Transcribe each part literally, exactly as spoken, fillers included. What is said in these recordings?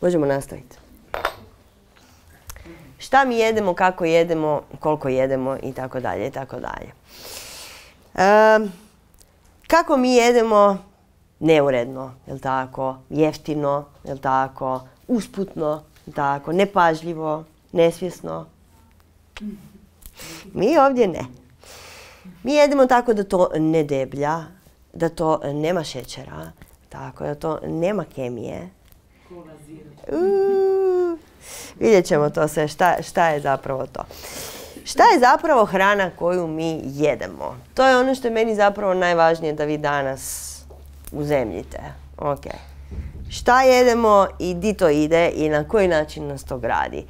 Možemo nastaviti. Šta mi jedemo, kako jedemo, koliko jedemo i tako dalje i tako dalje. Kako mi jedemo? Neuredno, jel tako? Jeftino, jel tako? Usputno, jel tako? Nepažljivo, nesvjesno. Mi ovdje ne. Mi jedemo tako da to ne deblja, da to nema šećera, tako da to nema kemije. Uuu, vidjet ćemo to sve, šta, šta je zapravo to. Šta je zapravo hrana koju mi jedemo? To je ono što je meni zapravo najvažnije da vi danas uzemljite. Okay. Šta jedemo i di to ide i na koji način nas to gradi?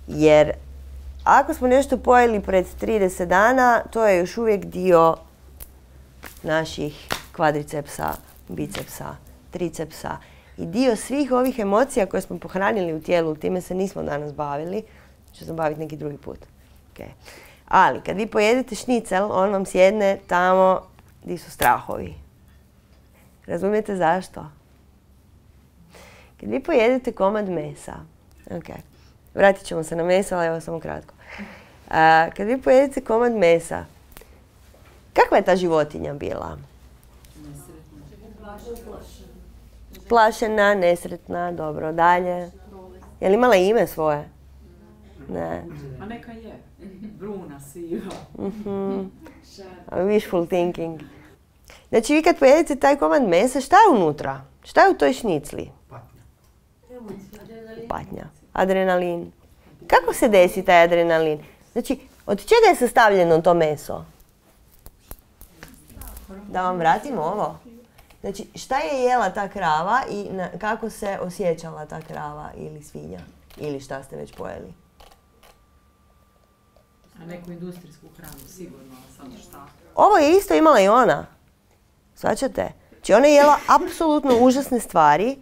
Jer ako smo nešto pojeli pred trideset dana, to je još uvijek dio naših kvadricepsa, bicepsa, tricepsa i dio svih ovih emocija koje smo pohranili u tijelu. Time se nismo danas bavili, ću se baviti neki drugi put. Okay. Ali kad vi pojedete šnicel, on vam sjedne tamo gdje su strahovi. Razumijete zašto? Kad vi pojedete komad mesa, okay. Vratit ćemo se na meso, ali evo samo kratko. A, kad vi pojedete komad mesa, kakva je ta životinja bila? Plašena, nesretna, dobro, dalje. Je li imala ime svoje? Ne. A neka je. Bruna, siva. Mm-hmm. Wishful thinking. Znači vi kad pojedete taj komad mesa, šta je unutra? Šta je u toj šnicli? Patnja. Patnja. Adrenalin. Kako se desi taj adrenalin? Znači, od čega je sastavljeno to meso? Da vam vratimo ovo. Znači, šta je jela ta krava i na, kako se osjećala ta krava ili svinja? Ili šta ste već pojeli? A neku industrijsku hranu, sigurno, samo šta. Ovo je isto imala i ona. Svaćate? Znači, ona je jela apsolutno užasne stvari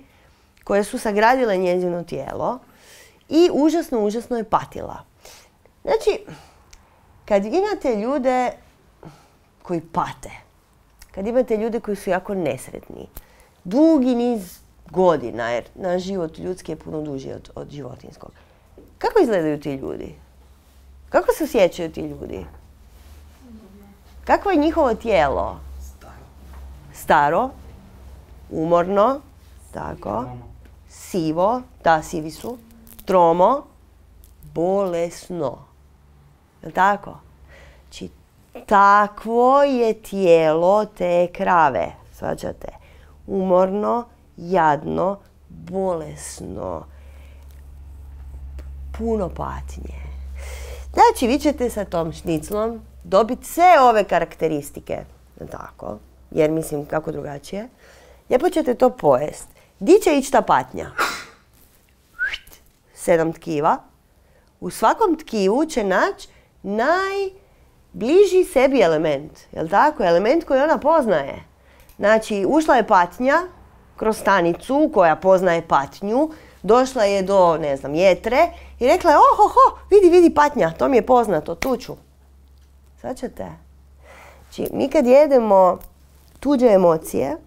koje su sagradile njezino tijelo i užasno, užasno je patila. Znači, kad imate ljude koji pate, kad imate ljude koji su jako nesretni, dugi niz godina, jer naš život ljudski je puno duži od, od životinskog. Kako izgledaju ti ljudi? Kako se osjećaju ti ljudi? Kako je njihovo tijelo? Staro, umorno, tako, sivo, da, sivi su, tromo, bolesno. Je li tako? Znači, takvo je tijelo te krave, svađate? Umorno, jadno, bolesno, puno patnje. Znači, vi ćete sa tom šniclom dobiti sve ove karakteristike, tako, jer mislim kako drugačije. Lijepo ćete to pojest. Di će ići ta patnja? Sedam tkiva. U svakom tkivu će naći najbliži sebi element. Jel' tako? Element koji ona poznaje. Znači, ušla je patnja kroz stanicu koja poznaje patnju. Došla je do, ne znam, jetre i rekla je, oh, oh, oh, vidi, vidi patnja, to mi je poznato, tu ću. Sad ćete. Znači, mi kad jedemo tuđe emocije,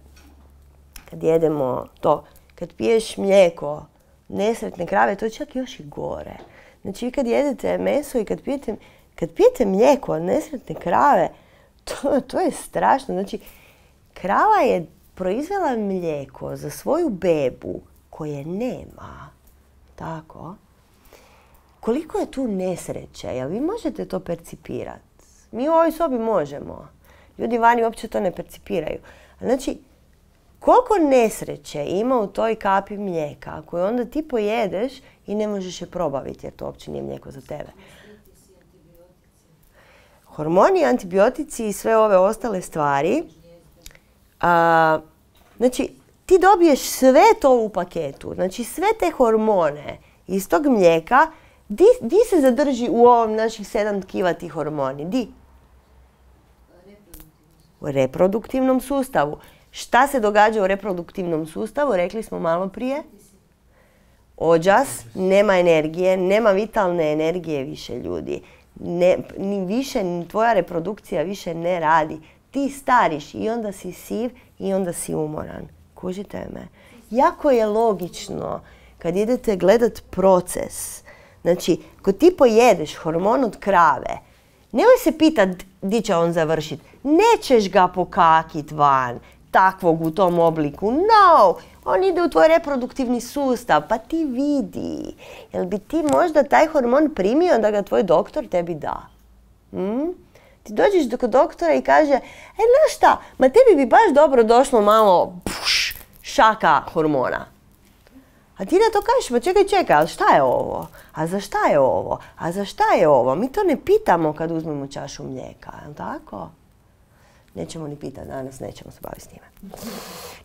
kad jedemo to, kad piješ mlijeko nesretne krave, to je čak još i gore. Znači, vi kad jedete meso i kad pijete, kad pijete mlijeko od nesretne krave, to, to je strašno. Znači, krava je proizvela mlijeko za svoju bebu koje nema. Tako. Koliko je tu nesreće? Jel vi možete to percipirati? Mi u ovoj sobi možemo. Ljudi vani uopće to ne percipiraju. Znači, koliko nesreće ima u toj kapi mlijeka koju onda ti pojedeš i ne možeš je probaviti jer to uopće nije mlijeko za tebe. Hormoni, antibiotici i sve ove ostale stvari. A, znači, ti dobiješ sve to u paketu. Znači, sve te hormone iz tog mlijeka, di, di se zadrži u ovom naših sedam tkiva ti hormoni? Di? U reproduktivnom sustavu. Šta se događa u reproduktivnom sustavu? Rekli smo malo prije. Ođas, nema energije, nema vitalne energije više ljudi. Ne, ni više, ni tvoja reprodukcija više ne radi. Ti stariš i onda si siv i onda si umoran. Kužite me? Jako je logično kad idete gledat proces. Znači, kad ti pojedeš hormon od krave, nemoj se pitat di će on završiti. Nećeš ga pokakit van, takvog u tom obliku. No! On ide u tvoj reproduktivni sustav, pa ti vidi. Jel bi ti možda taj hormon primio da ga tvoj doktor tebi da? Hmm? Ti dođeš kod doktora i kaže, e, znaš šta, ma tebi bi baš dobro došlo malo puš, šaka hormona. A ti na to kažeš, pa čekaj, čekaj, ali šta je ovo? A za šta je ovo? A za šta je ovo? Mi to ne pitamo kad uzmemo čašu mlijeka, je li tako? Nećemo ni pitati, danas nećemo se baviti s njime.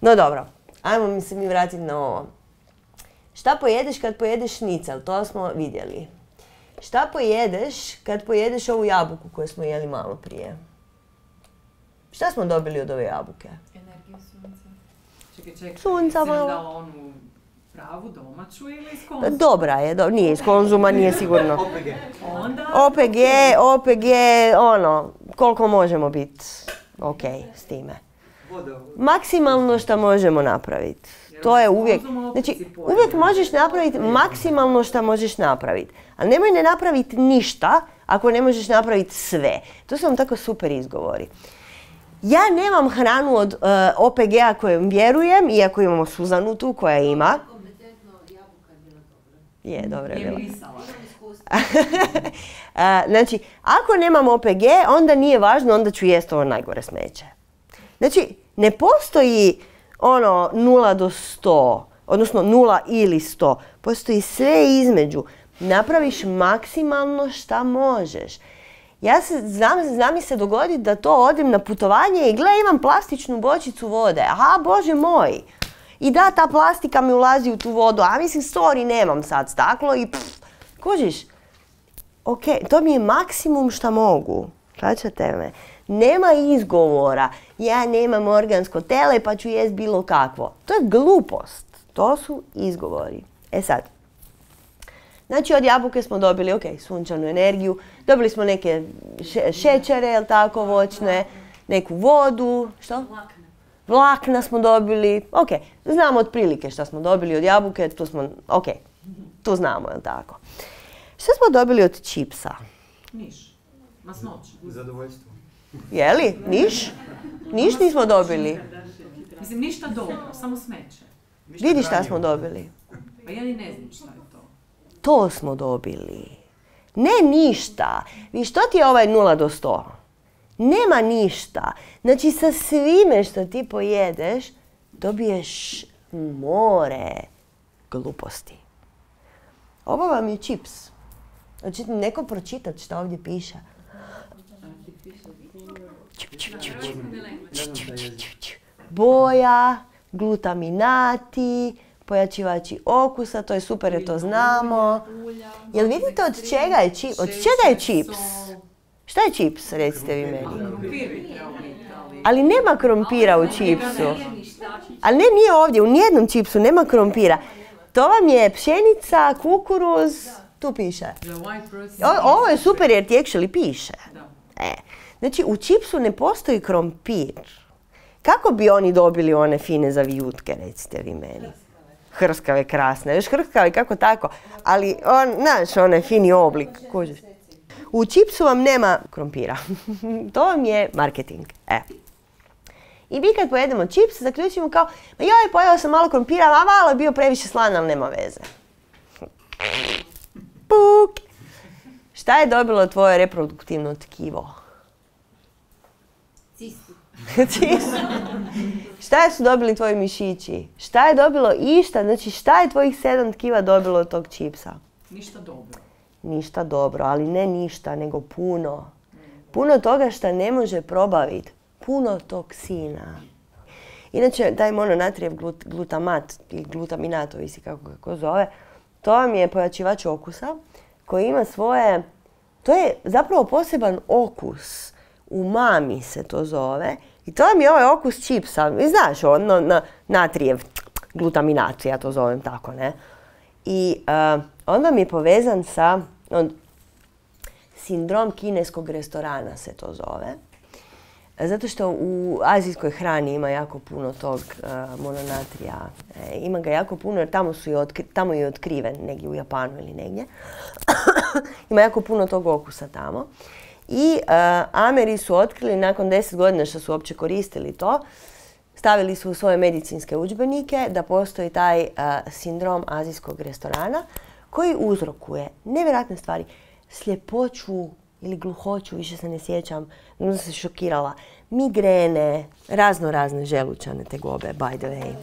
No dobro, ajmo mi se mi vratiti na ovo. Šta pojedeš kad pojedeš šnicel? To smo vidjeli. Šta pojedeš kad pojedeš ovu jabuku koju smo jeli malo prije? Šta smo dobili od ove jabuke? Energiju sunca. Čekaj, čekaj. Sunca malo. Jesi dala onu pravu, domaću ili iz Konzuma? Dobra je, do, nije iz Konzuma, nije sigurno. O P G. Onda... O P G, O P G, ono, koliko možemo biti ok s time. Maksimalno što možemo napraviti. To je uvijek, znači uvijek možeš napraviti maksimalno što možeš napraviti. Ali nemoj ne napraviti ništa ako ne možeš napraviti sve. To su vam tako super izgovori. Ja nemam hranu od uh, O P G-a kojem vjerujem, iako imamo Suzanu tu koja ima. Je, dobro je bila. Znači, ako nemam O P G, onda nije važno, onda ću jesti ovo najgore smeće. Znači, ne postoji ono nula do sto, odnosno nula ili sto. Postoji sve između. Napraviš maksimalno šta možeš. Ja se, znam, znam mi se dogoditi da to odem na putovanje i gle, imam plastičnu bočicu vode. Aha, Bože moj. I da, ta plastika mi ulazi u tu vodu. A mislim, sorry, nemam sad staklo i pff, kužiš. Ok, to mi je maksimum šta mogu. Šaćate me? Nema izgovora. Ja nemam organsko tele pa ću jest bilo kakvo. To je glupost. To su izgovori. E sad. Znači od jabuke smo dobili, ok, sunčanu energiju, dobili smo neke še šećere, jel tako, voćne, neku vodu, što? Vlakna. Vlakna smo dobili, ok, znamo otprilike što smo dobili od jabuke, tu smo, ok, tu znamo, jel tako. Što smo dobili od čipsa? Niš. Masnoće. Zadovoljstvo. Jeli? Niš? Niš nismo dobili. Mislim, ništa dobro, samo smeće. Vidi šta smo dobili. Pa ja ni ne znam šta je to. To smo dobili. Ne ništa. Vi što ti je ovaj nula do sto? Nema ništa. Znači sa svime što ti pojedeš dobiješ more gluposti. Ovo vam je čips. Hoćete neko pročitati što ovdje piše? Boja, glutaminati, pojačivači okusa, to je super jer to znamo. Jel vidite od čega je čips? Od čega je čips? Šta je čips, recite vi meni? Ali nema krompira u čipsu. Ali ne, nije ovdje, u nijednom čipsu nema krompira. To vam je pšenica, kukuruz, tu piše. O, ovo je super jer ti actually piše. E, znači u čipsu ne postoji krompir. Kako bi oni dobili one fine zavijutke, recite vi meni? Hrskave, krasne, još hrskave kako tako, ali on, znaš, onaj fini oblik, kužiš. U čipsu vam nema krompira. To vam je marketing. E. I mi kad pojedemo čips, zaključimo kao, joj, pojela sam malo krompira, a malo je bio previše slan, ali nema veze. Puk! Šta je dobilo tvoje reproduktivno tkivo? Cistu. Cistu. Šta su dobili tvoji mišići? Šta je dobilo išta? Znači šta je tvojih sedam tkiva dobilo od tog čipsa? Ništa dobro. Ništa dobro, ali ne ništa, nego puno. Puno toga što ne može probaviti. Puno toksina. Inače, taj mononatrijev glut, glutamat, ili glutaminat, ovisi kako ga zove, to vam je pojačivač okusa koji ima svoje, to je zapravo poseban okus. Umami se to zove. I to vam je ovaj okus čipsa. I znaš, ono, na, natrijev glutaminat, ja to zovem tako, ne? I uh, on vam je povezan sa on, sindrom kineskog restorana se to zove. Zato što u azijskoj hrani ima jako puno tog uh, mononatrija. E, ima ga jako puno jer tamo, su i otkri, tamo je otkriven, negdje u Japanu ili negdje. Ima jako puno tog okusa tamo. I uh, Ameri su otkrili nakon deset godina što su uopće koristili to, stavili su u svoje medicinske udžbenike da postoji taj uh, sindrom azijskog restorana koji uzrokuje nevjerojatne stvari. Sljepoću ili gluhoću, više se ne sjećam, možda sam se šokirala. Migrene, razno razne želučane tegobe, by the way.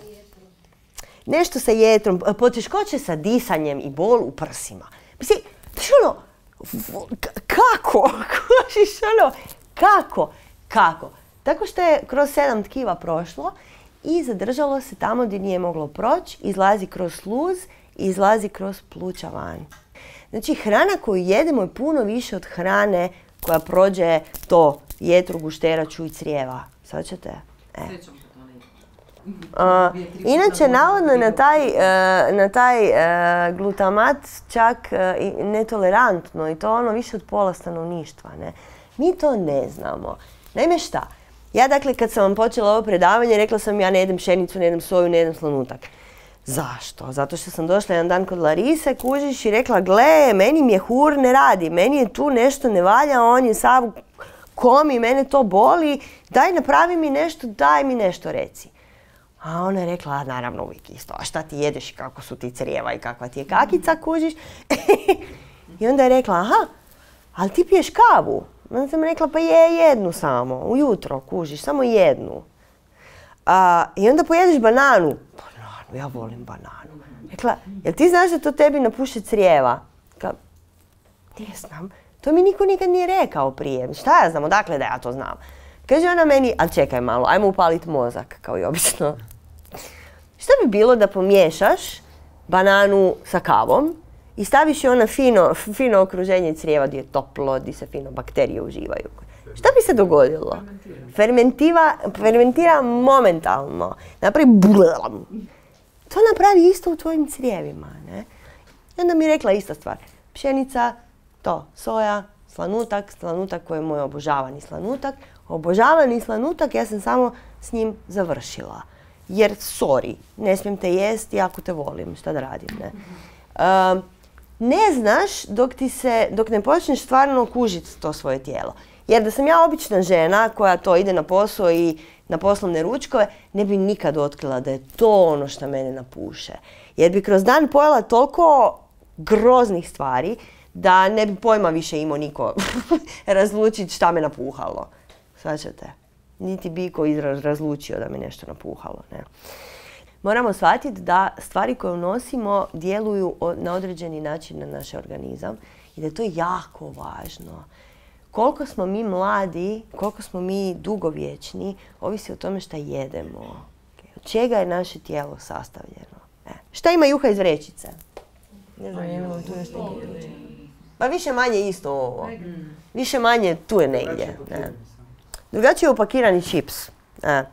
Nešto sa jetrom, poteškoće sa disanjem i bol u prsima. Mislim, ono, kako? Kužiš ono, kako? Kako? Tako što je kroz sedam tkiva prošlo i zadržalo se tamo gdje nije moglo proći, izlazi kroz sluz i izlazi kroz pluća van. Znači, hrana koju jedemo je puno više od hrane koja prođe to jetru, gušteraču i crijeva. Sad ćete? E. Uh, inače, navodno na taj, uh, na taj uh, glutamat čak uh, netolerantno i to ono više od pola stanovništva. Ne? Mi to ne znamo. Naime šta? Ja dakle kad sam vam počela ovo predavanje rekla sam ja ne jedem pšenicu, ne jedem soju, ne jedem slanutak. Zašto? Zato što sam došla jedan dan kod Larise, kužiš, i rekla gle, meni mjehur ne radi, meni je tu nešto ne valja, on je sav komi, mene to boli, daj napravi mi nešto, daj mi nešto reci. A ona je rekla, a naravno uvijek isto, a šta ti jedeš i kako su ti crijeva i kakva ti je kakica, kužiš. I onda je rekla, aha, ali ti piješ kavu. Onda sam rekla, pa je jednu samo, ujutro, kužiš, samo jednu. A, I onda pojedeš bananu. Bananu, ja volim bananu. Rekla, jel ti znaš da to tebi napuše crijeva? Rekla, ne znam, to mi niko nikad nije rekao prije. Šta ja znam, odakle da ja to znam? Kaže ona meni, ali čekaj malo, ajmo upaliti mozak, kao i obično. Šta bi bilo da pomiješaš bananu sa kavom i staviš je ona fino, fino okruženje crijeva gdje je toplo, gdje se fino bakterije uživaju? Šta bi se dogodilo? Fermentiva, fermentira momentalno. Napravi blam. To napravi isto u tvojim crijevima. Ne? I onda mi je rekla ista stvar. Pšenica, to, soja, slanutak, slanutak koji je moj obožavani slanutak. Obožavani slanutak, ja sam samo s njim završila. Jer, sorry, ne smijem te jesti, jako te volim, šta da radim, ne? Um, ne znaš dok, ti se, dok ne počneš stvarno kužiti to svoje tijelo. Jer da sam ja obična žena koja to ide na posao i na poslovne ručkove, ne bi nikad otkrila da je to ono što mene napuše. Jer bi kroz dan pojela toliko groznih stvari da ne bi pojma više imao niko razlučiti šta me napuhalo. Svačate? Niti bi ko razlučio da me nešto napuhalo. Ne? Moramo shvatiti da stvari koje unosimo djeluju na određeni način na naš organizam i da je to jako važno. Koliko smo mi mladi, koliko smo mi dugovječni, ovisi o tome šta jedemo. Od čega je naše tijelo sastavljeno. E. Šta ima juha iz vrećice? Ne znam, imamo tu nešto negdje. Pa više manje isto ovo. Više manje tu je negdje. Ne. Drugačije je upakirani čips. E.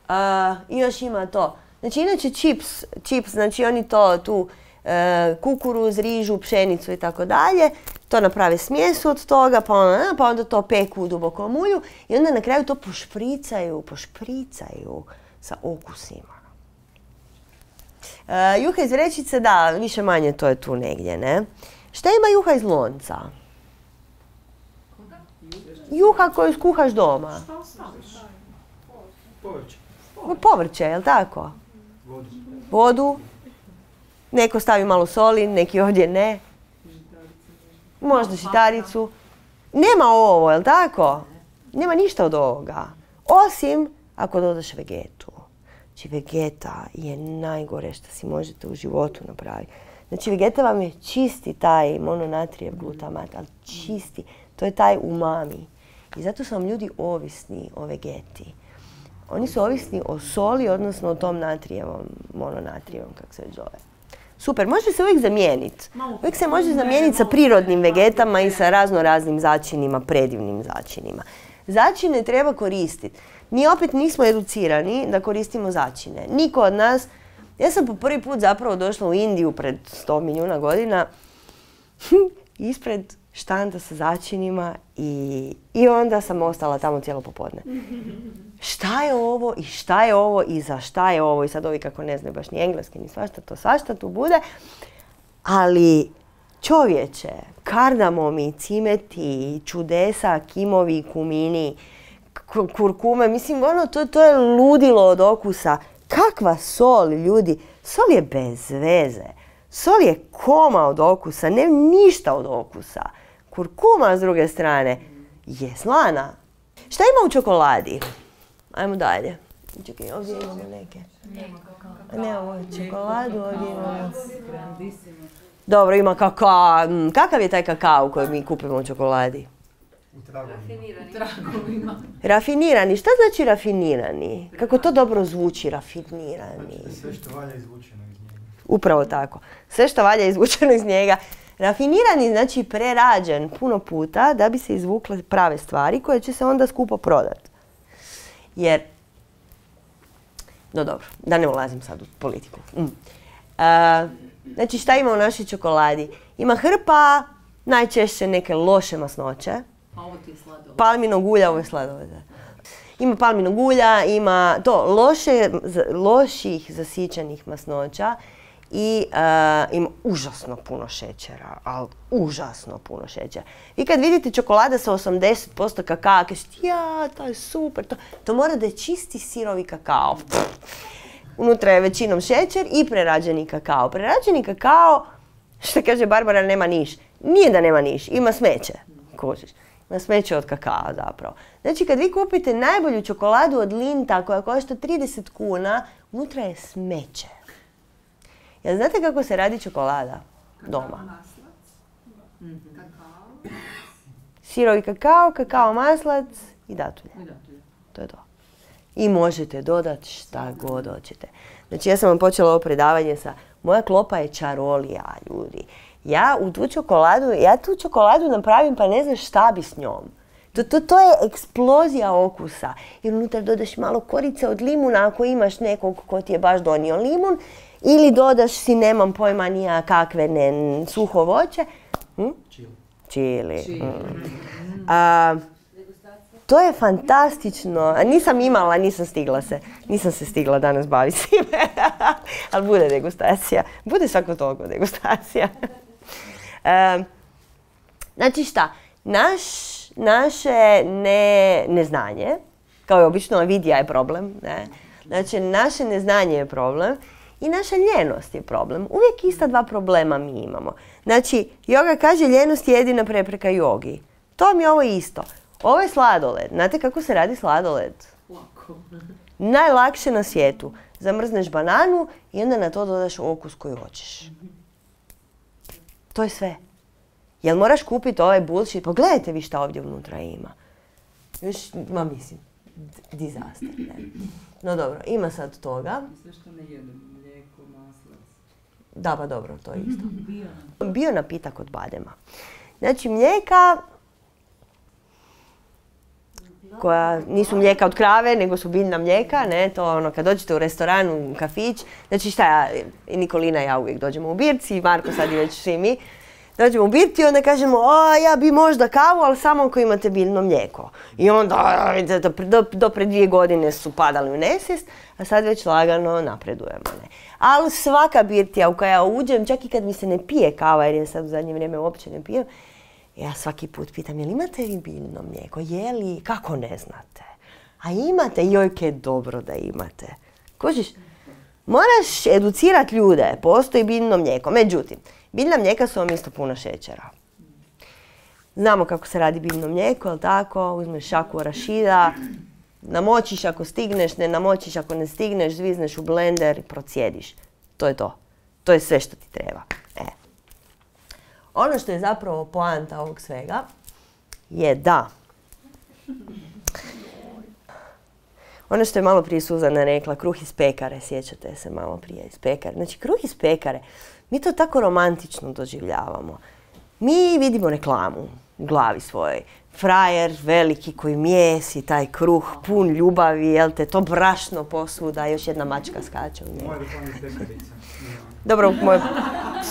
A, I još ima to. Znači, inače čips, čips, znači oni to tu e, kukuruz, rižu, pšenicu i tako dalje, to naprave smjesu od toga, pa onda, pa onda to peku u dubokom ulju i onda na kraju to pošpricaju, pošpricaju sa okusima. E, juha iz vrećice, da, više manje to je tu negdje, ne? Šta ima juha iz lonca? Juha koju skuhaš doma. Šta ostaviš? Povrće. Povrće, jel tako? Vodu. Vodu. Neko stavi malo soli, neki ovdje ne. Možda žitaricu. Nema ovo, jel tako? Nema ništa od ovoga. Osim ako dodaš vegetu. Znači vegeta je najgore što si možete u životu napraviti. Znači vegeta vam je čisti taj mononatrijev glutamat, ali čisti. To je taj umami. I zato su vam ljudi ovisni o vegeti. Oni su ovisni o soli, odnosno o tom natrijevom, mononatrijevom, kako se zove. Super, može se uvijek zamijeniti. Uvijek se može zamijeniti sa prirodnim vegetama i sa razno raznim začinima, predivnim začinima. Začine treba koristiti. Mi opet nismo educirani da koristimo začine. Niko od nas. Ja sam po prvi put zapravo došla u Indiju pred sto milijuna godina ispred štanda sa začinima i, i onda sam ostala tamo cijelo popodne. Šta je ovo i šta je ovo i za šta je ovo i sad ovi kako ne znaju baš ni engleski ni svašta to svašta tu bude. Ali čovječe, kardamomi, cimeti, čudesa, kimovi, kumini, kurkume, mislim ono to, to je ludilo od okusa. Kakva sol, ljudi, sol je bez veze. Sol je koma od okusa, ne ništa od okusa. Kurkuma s druge strane je slana. Šta ima u čokoladi? Ajmo dalje. Čekaj, ovdje imamo neke. Nemamo čokoladu, ovdje imamo. Dobro, ima kakao. Kakav je taj kakao koji mi kupimo u čokoladi? Tragovima. Rafinirani. Šta znači rafinirani? Kako to dobro zvuči, rafinirani. Sve što valja izvučeno iz njega. Upravo tako. Sve što valja izvučeno iz njega. Rafinirani znači prerađen puno puta da bi se izvukle prave stvari koje će se onda skupo prodati. Jer, no dobro, da ne ulazim sad u politiku. Mm. Uh, znači šta ima u našoj čokoladi? Ima hrpa, najčešće neke loše masnoće. A ovo ti je sladoled. Palminog ulja, ovo je sladoled. Ima palminog ulja, ima to loše, loših zasićenih masnoća i uh, ima užasno puno šećera, ali užasno puno šećera. Vi kad vidite čokolada sa osamdeset posto kakao, kažete ja, to je super, to, to mora da je čisti sirovi kakao. Unutra je većinom šećer i prerađeni kakao. Prerađeni kakao, što kaže Barbara, nema niš. Nije da nema niš, ima smeće. Kužiš. Ima smeće od kakao zapravo. Znači kad vi kupite najbolju čokoladu od Linta koja košta trideset kuna, unutra je smeće. Jel znate kako se radi čokolada? Doma. Sirovi kakao, kakao maslac i datulje. To je to. I možete dodati šta god hoćete. Znači ja sam vam počela ovo predavanje sa moja klopa je čarolija, ljudi. Ja u tu čokoladu, ja tu čokoladu napravim pa ne znaš šta bi s njom. To, to, to je eksplozija okusa. Jer unutar dodaš malo korice od limuna ako imaš nekog ko ti je baš donio limun. Ili dodaš si, nemam pojma nija kakve ne, suho voće. Hm? Čili. Čili. Mm. A, to je fantastično. A nisam imala, nisam stigla se. Nisam se stigla danas baviti s time. Ali bude degustacija. Bude svako toliko degustacija. E, znači šta? Naš, naše ne, neznanje, kao i obično avidija je problem. Ne? Znači naše neznanje je problem. I naša ljenost je problem. Uvijek ista dva problema mi imamo. Znači, joga kaže ljenost je jedina prepreka jogi. To mi je ovo isto. Ovo je sladoled. Znate kako se radi sladoled? Lako. Najlakše na svijetu. Zamrzneš bananu i onda na to dodaš okus koji hoćeš. To je sve. Jel moraš kupiti ovaj bullshit? Pogledajte vi šta ovdje unutra ima. Još, ma mislim, disaster. Ne? No dobro, ima sad toga. Sve što ne jedem, mlijeko, maslac. Da, pa dobro, to je isto. Bio. Bio napitak od badema. Znači mlijeka koja nisu mlijeka od krave, nego su biljna mlijeka, ne, to ono kad dođete u restoran, u kafić, znači šta ja, i Nikolina i ja uvijek dođemo u birci, i Marko sad i već svi mi, dođemo u birci i onda kažemo, a ja bi možda kavu, ali samo ako imate biljno mlijeko. I onda, do, do, do pre dvije godine su padali u nesvijest, a sad već lagano napredujemo, ne. Ali svaka birtija u koja ja uđem, čak i kad mi se ne pije kava, jer je sad u zadnje vrijeme uopće ne pijem, ja svaki put pitam, jel imate vi biljno mlijeko? Je li? Kako ne znate? A imate? Jojke, je dobro da imate. Kužiš? Moraš educirati ljude, postoji biljno mlijeko. Međutim, biljna mlijeka su vam isto puno šećera. Znamo kako se radi biljno mlijeko, jel tako? Uzmeš šaku arašida, namočiš ako stigneš, ne namočiš ako ne stigneš, zvizneš u blender i procijediš. To je to. To je sve što ti treba. E. Ono što je zapravo poanta ovog svega je da ono što je malo prije Suzana rekla, kruh iz pekare, sjećate se malo prije iz pekare. Znači kruh iz pekare, mi to tako romantično doživljavamo. Mi vidimo reklamu u glavi svojoj. Frajer veliki koji mijesi taj kruh pun ljubavi, jel te, to brašno posvuda, još jedna mačka skače u njegu. Moja reklama iz pekarica. Dobro, moj,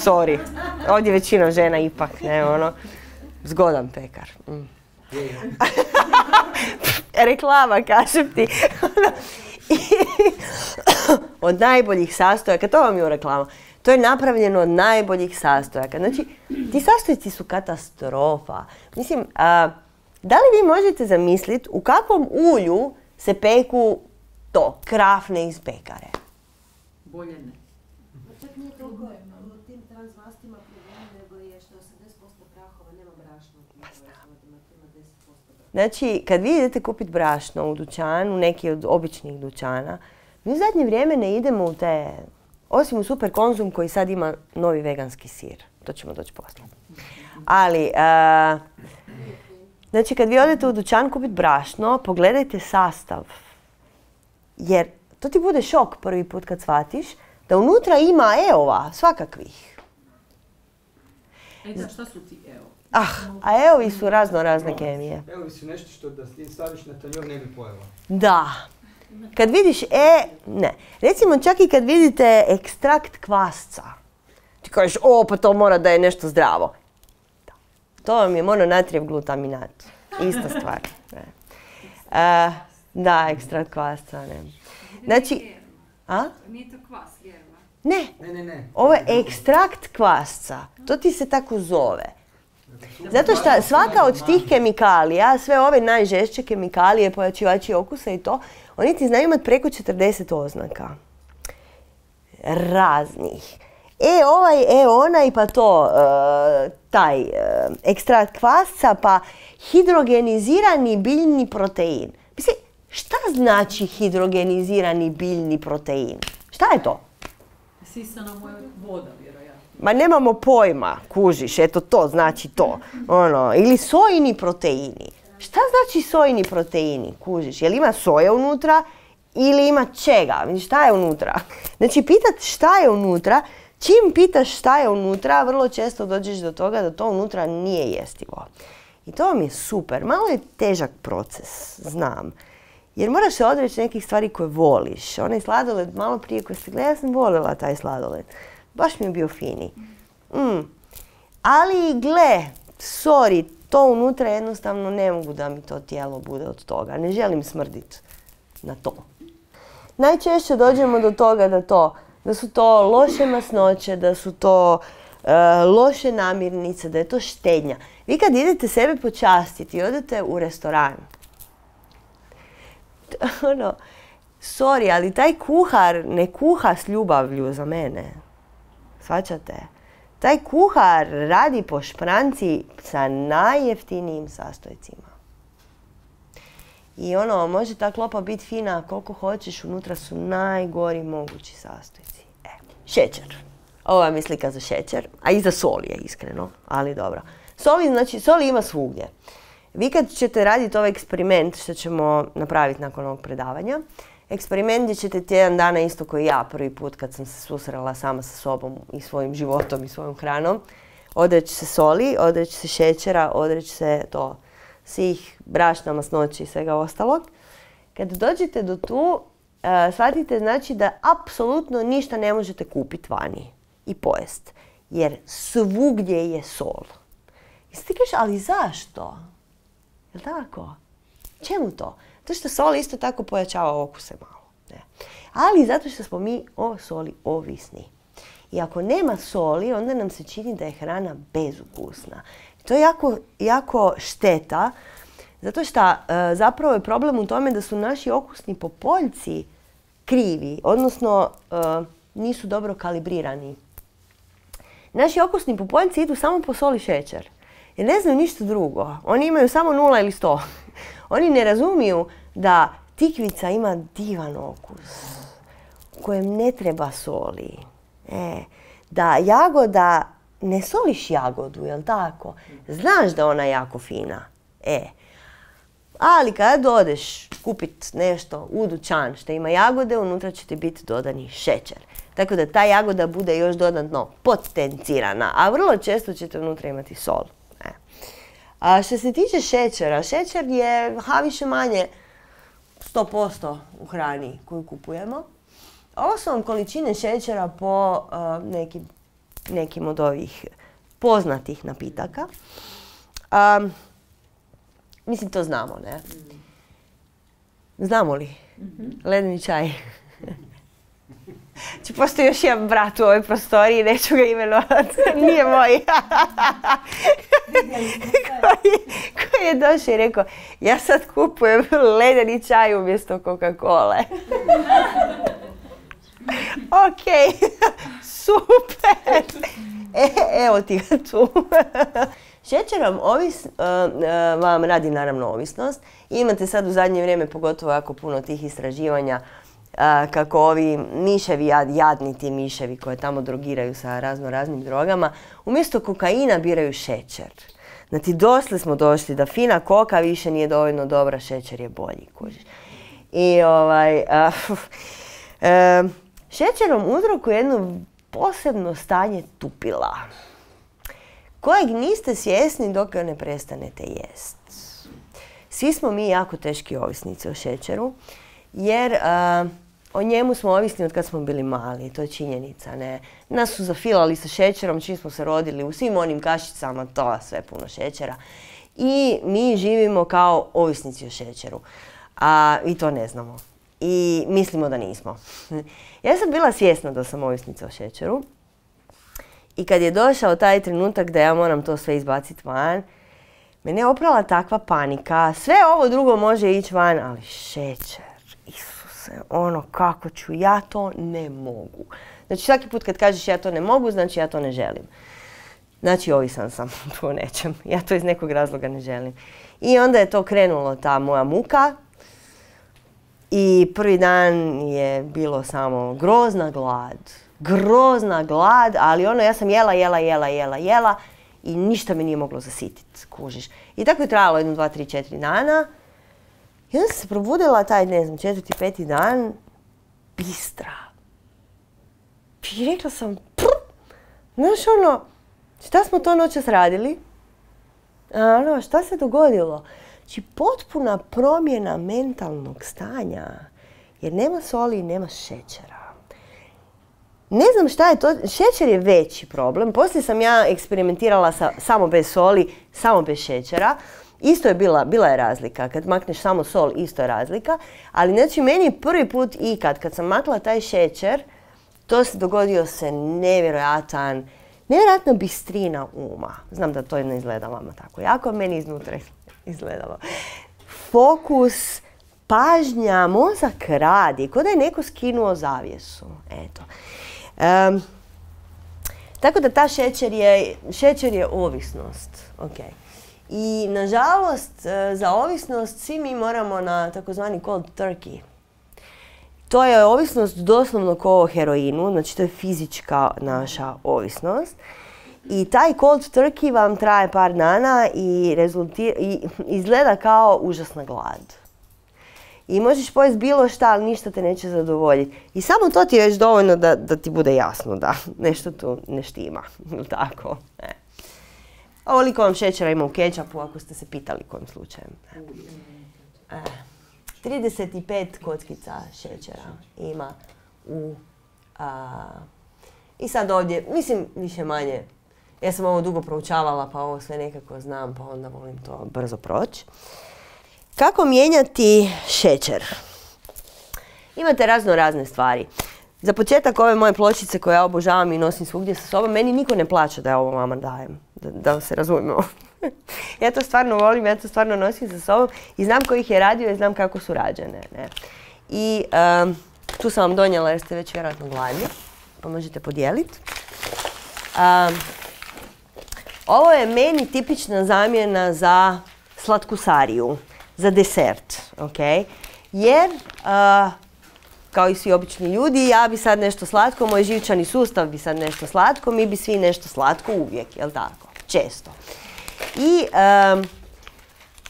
sorry, ovdje većina žena ipak, ne, ono, Zgodan pekar. Mm. Reklama, kažem ti. Od najboljih sastojaka, to vam je u reklama. To je napravljeno od najboljih sastojaka. Znači, ti sastojci su katastrofa. Mislim, a, da li vi možete zamisliti u kakvom ulju se peku to, krafne iz pekare? Bolje ne. Čak nije toliko u tim transmastima problem, nego je što osamdeset posto prahova nema brašna. Znači, kad vi idete kupiti brašno u dućanu, neki od običnih dućana, mi u zadnje vrijeme ne idemo u te, osim u Super Konzum koji sad ima novi veganski sir. To ćemo doći poslije. Ali, a, znači kad vi odete u dućan kupiti brašno, pogledajte sastav. Jer to ti bude šok prvi put kad shvatiš da unutra ima E-ova, svakakvih. E da, šta su ti evo? Ah, a E-ovi su razno razne kemije. Evo su nešto što da ti staviš na tanjur ne bi pojela. Da. Kad vidiš E, ne. Recimo čak i kad vidite ekstrakt kvasca. Ti kažeš, o, pa to mora da je nešto zdravo. Da. To vam je mononatrijev glutaminat. Ista stvar. Ne. E, da, ekstrakt kvasca, ne. Znači, a? Nije to kvas, vjerba. Ne. Ne, ne, ne. Ovo je ekstrakt kvasca. To ti se tako zove. Zato što svaka od tih kemikalija, sve ove najžešće kemikalije, pojačivači okusa i to, oni ti znaju imati preko četrdeset oznaka. Raznih. E ovaj, e onaj, pa to, uh, taj uh, ekstrakt kvasca, pa hidrogenizirani biljni protein. Mislim, šta znači hidrogenizirani biljni protein? Šta je to? Sisana moja voda, vjerojatno. Ma nemamo pojma, kužiš, eto to znači to. Ono, ili sojini proteini. Šta znači sojini proteini, kužiš? Jel ima soja unutra ili ima čega? Šta je unutra? Znači, pitat šta je unutra, čim pitaš šta je unutra, vrlo često dođeš do toga da to unutra nije jestivo. I to vam je super. Malo je težak proces, znam. Jer moraš se odreći nekih stvari koje voliš. Onaj sladoled, malo prije koji ste gledali, ja sam voljela taj sladoled. Baš mi je bio fini. Mm. Ali gle, sorry, to unutra jednostavno ne mogu da mi to tijelo bude od toga. Ne želim smrditi na to. Najčešće dođemo do toga da, to, da su to loše masnoće, da su to uh, loše namirnice, da je to štednja. Vi kad idete sebe počastiti i odete u restoran, ono, sorry, ali taj kuhar ne kuha s ljubavlju za mene. Shvaćate? Taj kuhar radi po špranci sa najjeftinijim sastojcima. I ono, može ta klopa biti fina koliko hoćeš, unutra su najgori mogući sastojci. E, šećer. Ovo vam je slika za šećer, a i za sol je iskreno, ali dobro. Soli, znači, soli ima svugdje. Vi kad ćete raditi ovaj eksperiment što ćemo napraviti nakon ovog predavanja, eksperiment gdje ćete tjedan dana isto koji ja prvi put kad sam se susrela sama sa sobom i svojim životom i svojom hranom, odreći se soli, odreći se šećera, odreći se to svih brašna, masnoći i svega ostalog. Kad dođete do tu, uh, shvatite znači da apsolutno ništa ne možete kupiti vani i pojest. Jer svugdje je sol. I ti kažeš, ali zašto? Jel' tako? Čemu to? Zato što sol isto tako pojačava okuse malo. Ne. Ali zato što smo mi o soli ovisni. I ako nema soli, onda nam se čini da je hrana bezukusna. To je jako, jako šteta, zato što e, zapravo je problem u tome da su naši okusni popoljci krivi, odnosno e, nisu dobro kalibrirani. Naši okusni popoljci idu samo po soli i šećer. Jer ne znaju ništa drugo. Oni imaju samo nula ili sto. Oni ne razumiju da tikvica ima divan okus u kojem ne treba soli. E, da jagoda, ne soliš jagodu, jel tako? Znaš da ona je jako fina. E, ali kad odeš kupit nešto u dućan što ima jagode, unutra će ti biti dodani šećer. Tako da ta jagoda bude još dodatno potencirana, a vrlo često ćete unutra imati sol. E. A što se tiče šećera, šećer je ha, više manje sto posto u hrani koju kupujemo. Ovo su vam količine šećera po uh, nekim, nekim od ovih poznatih napitaka. Um, mislim, to znamo, ne? Znamo li? Ledeni čaj. Znači, postoji još jedan brat u ovoj prostoriji, neću ga imenovati, nije moj. koji, koji je došao i rekao, ja sad kupujem ledeni čaj umjesto Coca-Cole. Ok, super. E, evo ti ga tu. Šećer vam, ovis, uh, uh, vam radi naravno ovisnost. Imate sad u zadnje vrijeme pogotovo jako puno tih istraživanja uh, kako ovi miševi, jad, jadni ti miševi koje tamo drogiraju sa razno raznim drogama, umjesto kokaina biraju šećer. Znači, dosle smo došli da fina koka više nije dovoljno dobra, šećer je bolji, kužiš. I ovaj, uh, uh, šećer vam uzrokuje jedno posebno stanje tupila, kojeg niste svjesni dok ga ne prestanete jest. Svi smo mi jako teški ovisnici o šećeru, jer uh, o njemu smo ovisni od kad smo bili mali, to je činjenica, ne? Nas su zafilali sa šećerom čim smo se rodili, u svim onim kašicama, to sve puno šećera. I mi živimo kao ovisnici o šećeru, a i to ne znamo. I mislimo da nismo. Ja sam bila svjesna da sam ovisnica o šećeru. I kad je došao taj trenutak da ja moram to sve izbaciti van, mene je oprala takva panika. Sve ovo drugo može ići van, ali šećer, Isuse, ono kako ću, ja to ne mogu. Znači svaki put kad kažeš ja to ne mogu, znači ja to ne želim. Znači ovisan sam tu o nečem, ja to iz nekog razloga ne želim. I onda je to krenulo, ta moja muka. I prvi dan je bilo samo grozna glad. Grozna glad, ali ono, ja sam jela, jela, jela, jela, jela i ništa me nije moglo zasititi, kužiš. I tako je trajalo jedno, dva, tri, četiri dana. I onda sam se probudila taj, ne znam, četvrti, peti dan, bistra. I rekla sam, prr, znaš ono, šta smo to noćas radili? A ono, šta se dogodilo? Znači, potpuna promjena mentalnog stanja, jer nema soli i nema šećera. Ne znam šta je to, šećer je veći problem. Poslije sam ja eksperimentirala sa, samo bez soli, samo bez šećera. Isto je bila, bila je razlika. Kad makneš samo sol, isto je razlika. Ali znači meni prvi put ikad, kad sam makla taj šećer, to se dogodio se nevjerojatan, nevjerojatna bistrina uma. Znam da to ne izgleda vama tako jako, meni iznutra izgledalo. Fokus, pažnja, mozak radi, kao da je neko skinuo zavjesu. Eto. Um, tako da ta šećer je, šećer je ovisnost. Okay. I nažalost za ovisnost svi mi moramo na takozvani cold turkey. To je ovisnost doslovno kao o heroinu, znači to je fizička naša ovisnost. I taj cold turkey vam traje par dana i, i izgleda kao užasna glad. I možeš pojesti bilo šta, ali ništa te neće zadovoljiti. I samo to ti je već dovoljno da, da ti bude jasno da nešto tu ne štima. Tako. E. Ovoliko vam šećera ima u kečapu, ako ste se pitali kojim slučajem. E. trideset pet kockica šećera ima u... A, I sad ovdje, mislim, više manje, ja sam ovo dugo proučavala, pa ovo sve nekako znam, pa onda volim to brzo proći. Kako mijenjati šećer? Imate razno razne stvari. Za početak ove moje pločice koje ja obožavam i nosim svugdje sa sobom, meni niko ne plaća da ja ovo vama dajem, da, da se razumijemo. Ja to stvarno volim, ja to stvarno nosim sa sobom i znam ko ih je radio i znam kako su rađene. Ne? I um, tu sam vam donijela jer ste već vjerojatno gladni, pa možete podijeliti. Um, ovo je meni tipična zamjena za slatkusariju, za desert, ok? Jer, uh, kao i svi obični ljudi, ja bi sad nešto slatko, moj živčani sustav bi sad nešto slatko, mi bi svi nešto slatko uvijek, jel tako? Često. I um,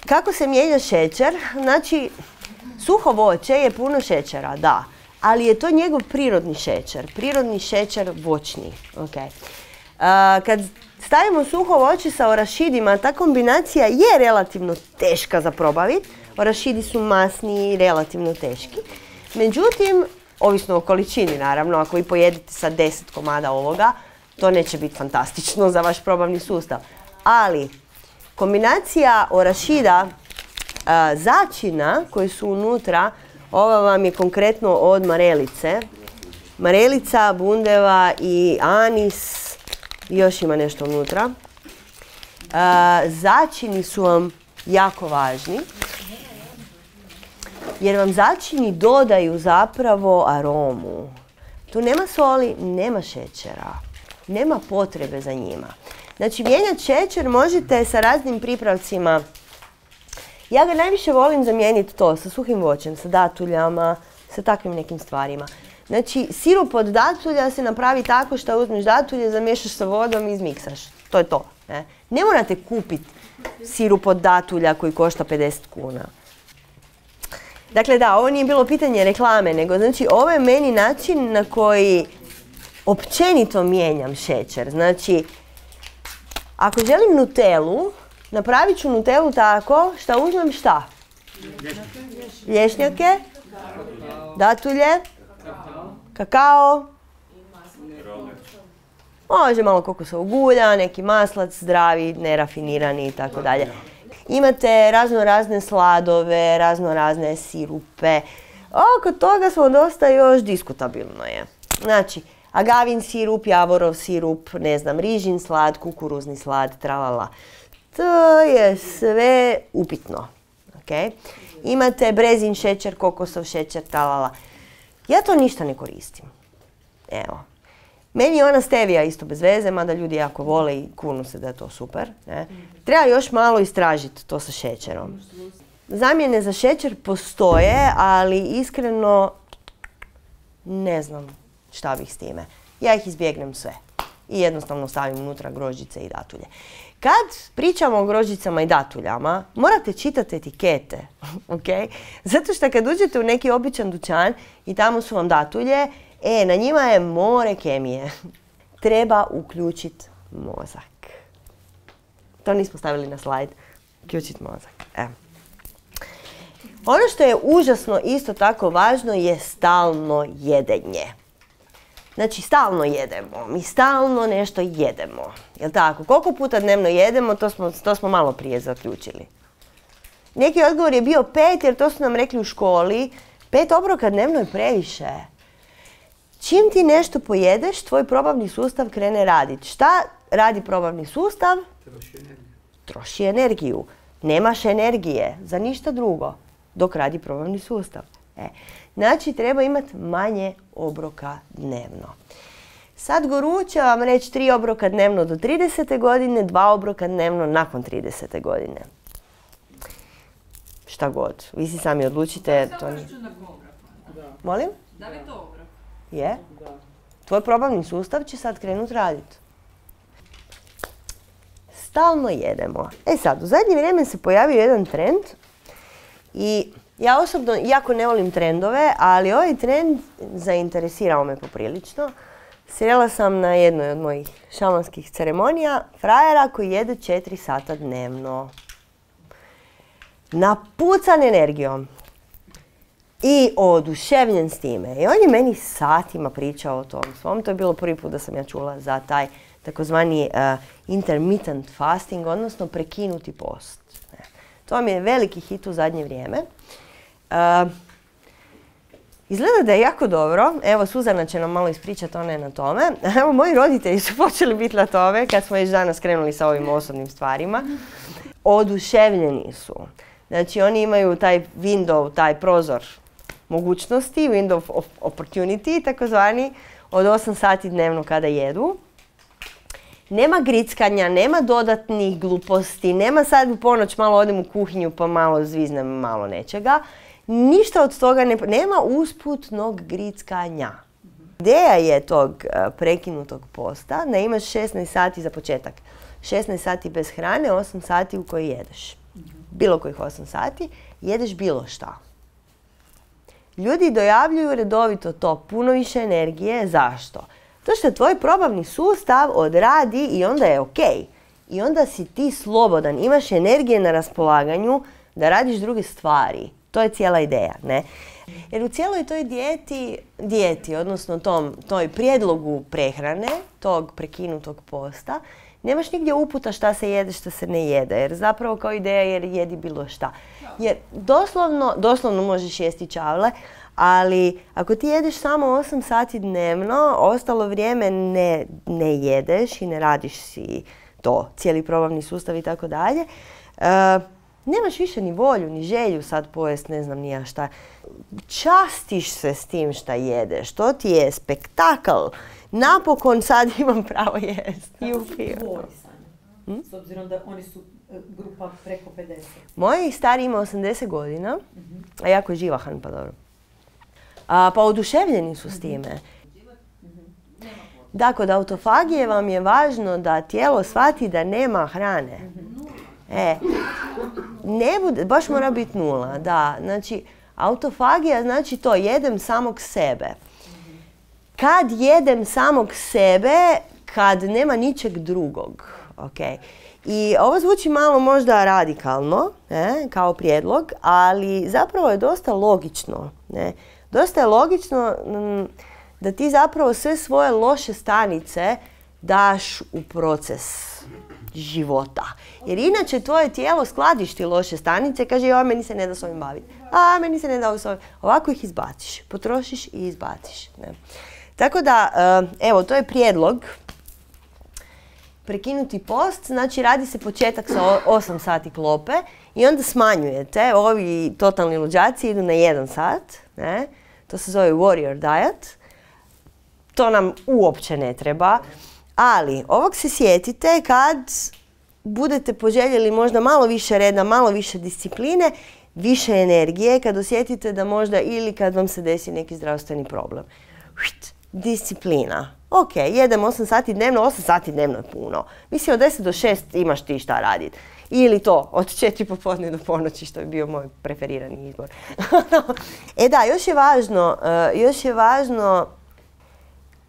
kako se mijenja šećer? Znači, suho voće je puno šećera, da, ali je to njegov prirodni šećer, prirodni šećer voćni, ok? Uh, kad stavimo suho voće sa orašidima, ta kombinacija je relativno teška za probaviti. Orašidi su masni i relativno teški. Međutim, ovisno o količini naravno, ako vi pojedete sa deset komada ovoga, to neće biti fantastično za vaš probavni sustav. Ali, Kombinacija orašida, a, začina koji su unutra, ova vam je konkretno od marelice. Marelica, bundeva i anis, još ima nešto unutra. A, začini su vam jako važni, jer vam začini dodaju zapravo aromu. Tu nema soli, nema šećera, nema potrebe za njima. Znači, mijenjati šećer možete sa raznim pripravcima. Ja ga najviše volim zamijeniti to sa suhim voćem, sa datuljama, sa takvim nekim stvarima. Znači, sirup od datulja se napravi tako što uzmeš datulje, zamiješaš sa vodom i izmiksaš. To je to. Ne, ne morate kupiti sirup od datulja koji košta pedeset kuna. Dakle, da, ovo nije bilo pitanje reklame, nego znači ovo je meni način na koji općenito mijenjam šećer. Znači, ako želim nutelu, napravit ću nutelu tako što uzmem šta? Lješnjake, datulje, kakao, može malo kokosovog ulja, neki maslac, zdravi, nerafinirani i tako dalje. Imate razno razne sladove, razno razne sirupe. Oko toga smo dosta još diskutabilno je. Znači, agavin sirup, javorov sirup, ne znam, rižin slad, kukuruzni slad, tralala. To je sve upitno. Okay? Imate brezin šećer, kokosov šećer, tralala. Ja to ništa ne koristim. Evo. Meni je ona stevija isto bez veze, mada ljudi jako vole i kunu se da je to super. Ne? Treba još malo istražiti to sa šećerom. Zamjene za šećer postoje, ali iskreno ne znam šta bih s time. Ja ih izbjegnem sve i jednostavno stavim unutra grožđice i datulje. Kad pričamo o grožđicama i datuljama, morate čitati etikete, okay? Zato što kad uđete u neki običan dućan i tamo su vam datulje, e, na njima je more kemije. Treba uključiti mozak. To nismo stavili na slajd. Uključiti mozak. E. Ono što je užasno isto tako važno je stalno jedenje. Znači, stalno jedemo. Mi stalno nešto jedemo. Jel' tako? Koliko puta dnevno jedemo, to smo, to smo malo prije zaključili. Neki odgovor je bio pet, jer to su nam rekli u školi. Pet obroka dnevno je previše. Čim ti nešto pojedeš, tvoj probavni sustav krene raditi. Šta radi probavni sustav? Troši energiju. Troši energiju. Nemaš energije za ništa drugo dok radi probavni sustav. E. Znači, treba imati manje obroka dnevno. Sad Guru će vam reći tri obroka dnevno do tridesete godine, dva obroka dnevno nakon tridesete godine. Šta god. Vi si sami odlučite. To nije... Molim? Da li je to obrok? Je. Tvoj probavni sustav će sad krenuti raditi. Stalno jedemo. E sad, u zadnje vrijeme se pojavio jedan trend i ja osobno jako ne volim trendove, ali ovaj trend zainteresirao me poprilično. Srela sam na jednoj od mojih šamanskih ceremonija frajera koji jede četiri sata dnevno. Napucan energijom. I oduševljen s time. I on je meni satima pričao o tom svom. To je bilo prvi put da sam ja čula za taj takozvani uh, intermittent fasting, odnosno prekinuti post. Ne. To vam je veliki hit u zadnje vrijeme. Uh, izgleda da je jako dobro. Evo, Suzana će nam malo ispričati, ona je na tome. Evo, moji roditelji su počeli biti na tome kad smo već danas krenuli sa ovim osobnim stvarima. Oduševljeni su. Znači, oni imaju taj window, taj prozor mogućnosti, window of opportunity, takozvani, od osam sati dnevno kada jedu. Nema grickanja, nema dodatnih gluposti, nema sad u ponoć malo odem u kuhinju pa malo zviznem malo nečega. Ništa od toga, ne, nema usputnog grickanja. Ideja je tog uh, prekinutog posta da imaš šesnaest sati za početak. šesnaest sati bez hrane, osam sati u koji jedeš. Bilo kojih osam sati, jedeš bilo šta. Ljudi dojavljuju redovito to, puno više energije. Zašto? To što tvoj probavni sustav odradi i onda je ok. I onda si ti slobodan, imaš energije na raspolaganju da radiš druge stvari. To je cijela ideja, ne? Jer u cijeloj toj dijeti, dijeti odnosno tom, toj prijedlogu prehrane, tog prekinutog posta, nemaš nigdje uputa šta se jede, šta se ne jede. Jer zapravo kao ideja jer jedi bilo šta. Jer doslovno, doslovno možeš jesti čavle, ali ako ti jedeš samo osam sati dnevno, ostalo vrijeme ne, ne jedeš i ne radiš si to, cijeli probavni sustav i tako dalje, nemaš više ni volju, ni želju sad pojest, ne znam ni ja šta. Častiš se s tim šta jedeš, to ti je spektakl. Napokon sad imam pravo jesti. Kako su tvoji, Sanja? Hm? S obzirom da oni su e, grupa preko pedeset. Moj stari ima osamdeset godina, mm-hmm. a jako je živahan, pa dobro. A, pa oduševljeni su s time. Mm-hmm. Da, kod autofagije vam je važno da tijelo shvati da nema hrane. Mm-hmm. E, ne bude, baš mora biti nula, da. Znači, autofagija znači to, jedem samog sebe. Kad jedem samog sebe, kad nema ničeg drugog. Okay. I ovo zvuči malo možda radikalno, ne, kao prijedlog, ali zapravo je dosta logično. Ne. Dosta je logično m, da ti zapravo sve svoje loše stanice daš u proces života. Jer inače tvoje tijelo skladišti loše stanice, kaže joj, meni se ne da s ovim baviti. A, meni se ne da s ovim. Ovako ih izbaciš, potrošiš i izbaciš. Ne. Tako da, evo, to je prijedlog. Prekinuti post, znači radi se početak sa osam sati klope i onda smanjujete. Ovi totalni luđaci idu na jedan sat. Ne? To se zove warrior diet. To nam uopće ne treba. Ali, ovog se sjetite kad budete poželjeli možda malo više reda, malo više discipline, više energije, kad osjetite da možda ili kad vam se desi neki zdravstveni problem. Disciplina. Ok, jedem osam sati dnevno, osam sati dnevno je puno. Mislim, od deset do šest imaš ti šta raditi. Ili to, od četiri popodne do ponoći, što je bio moj preferirani izbor. E da, još je važno, uh, još je važno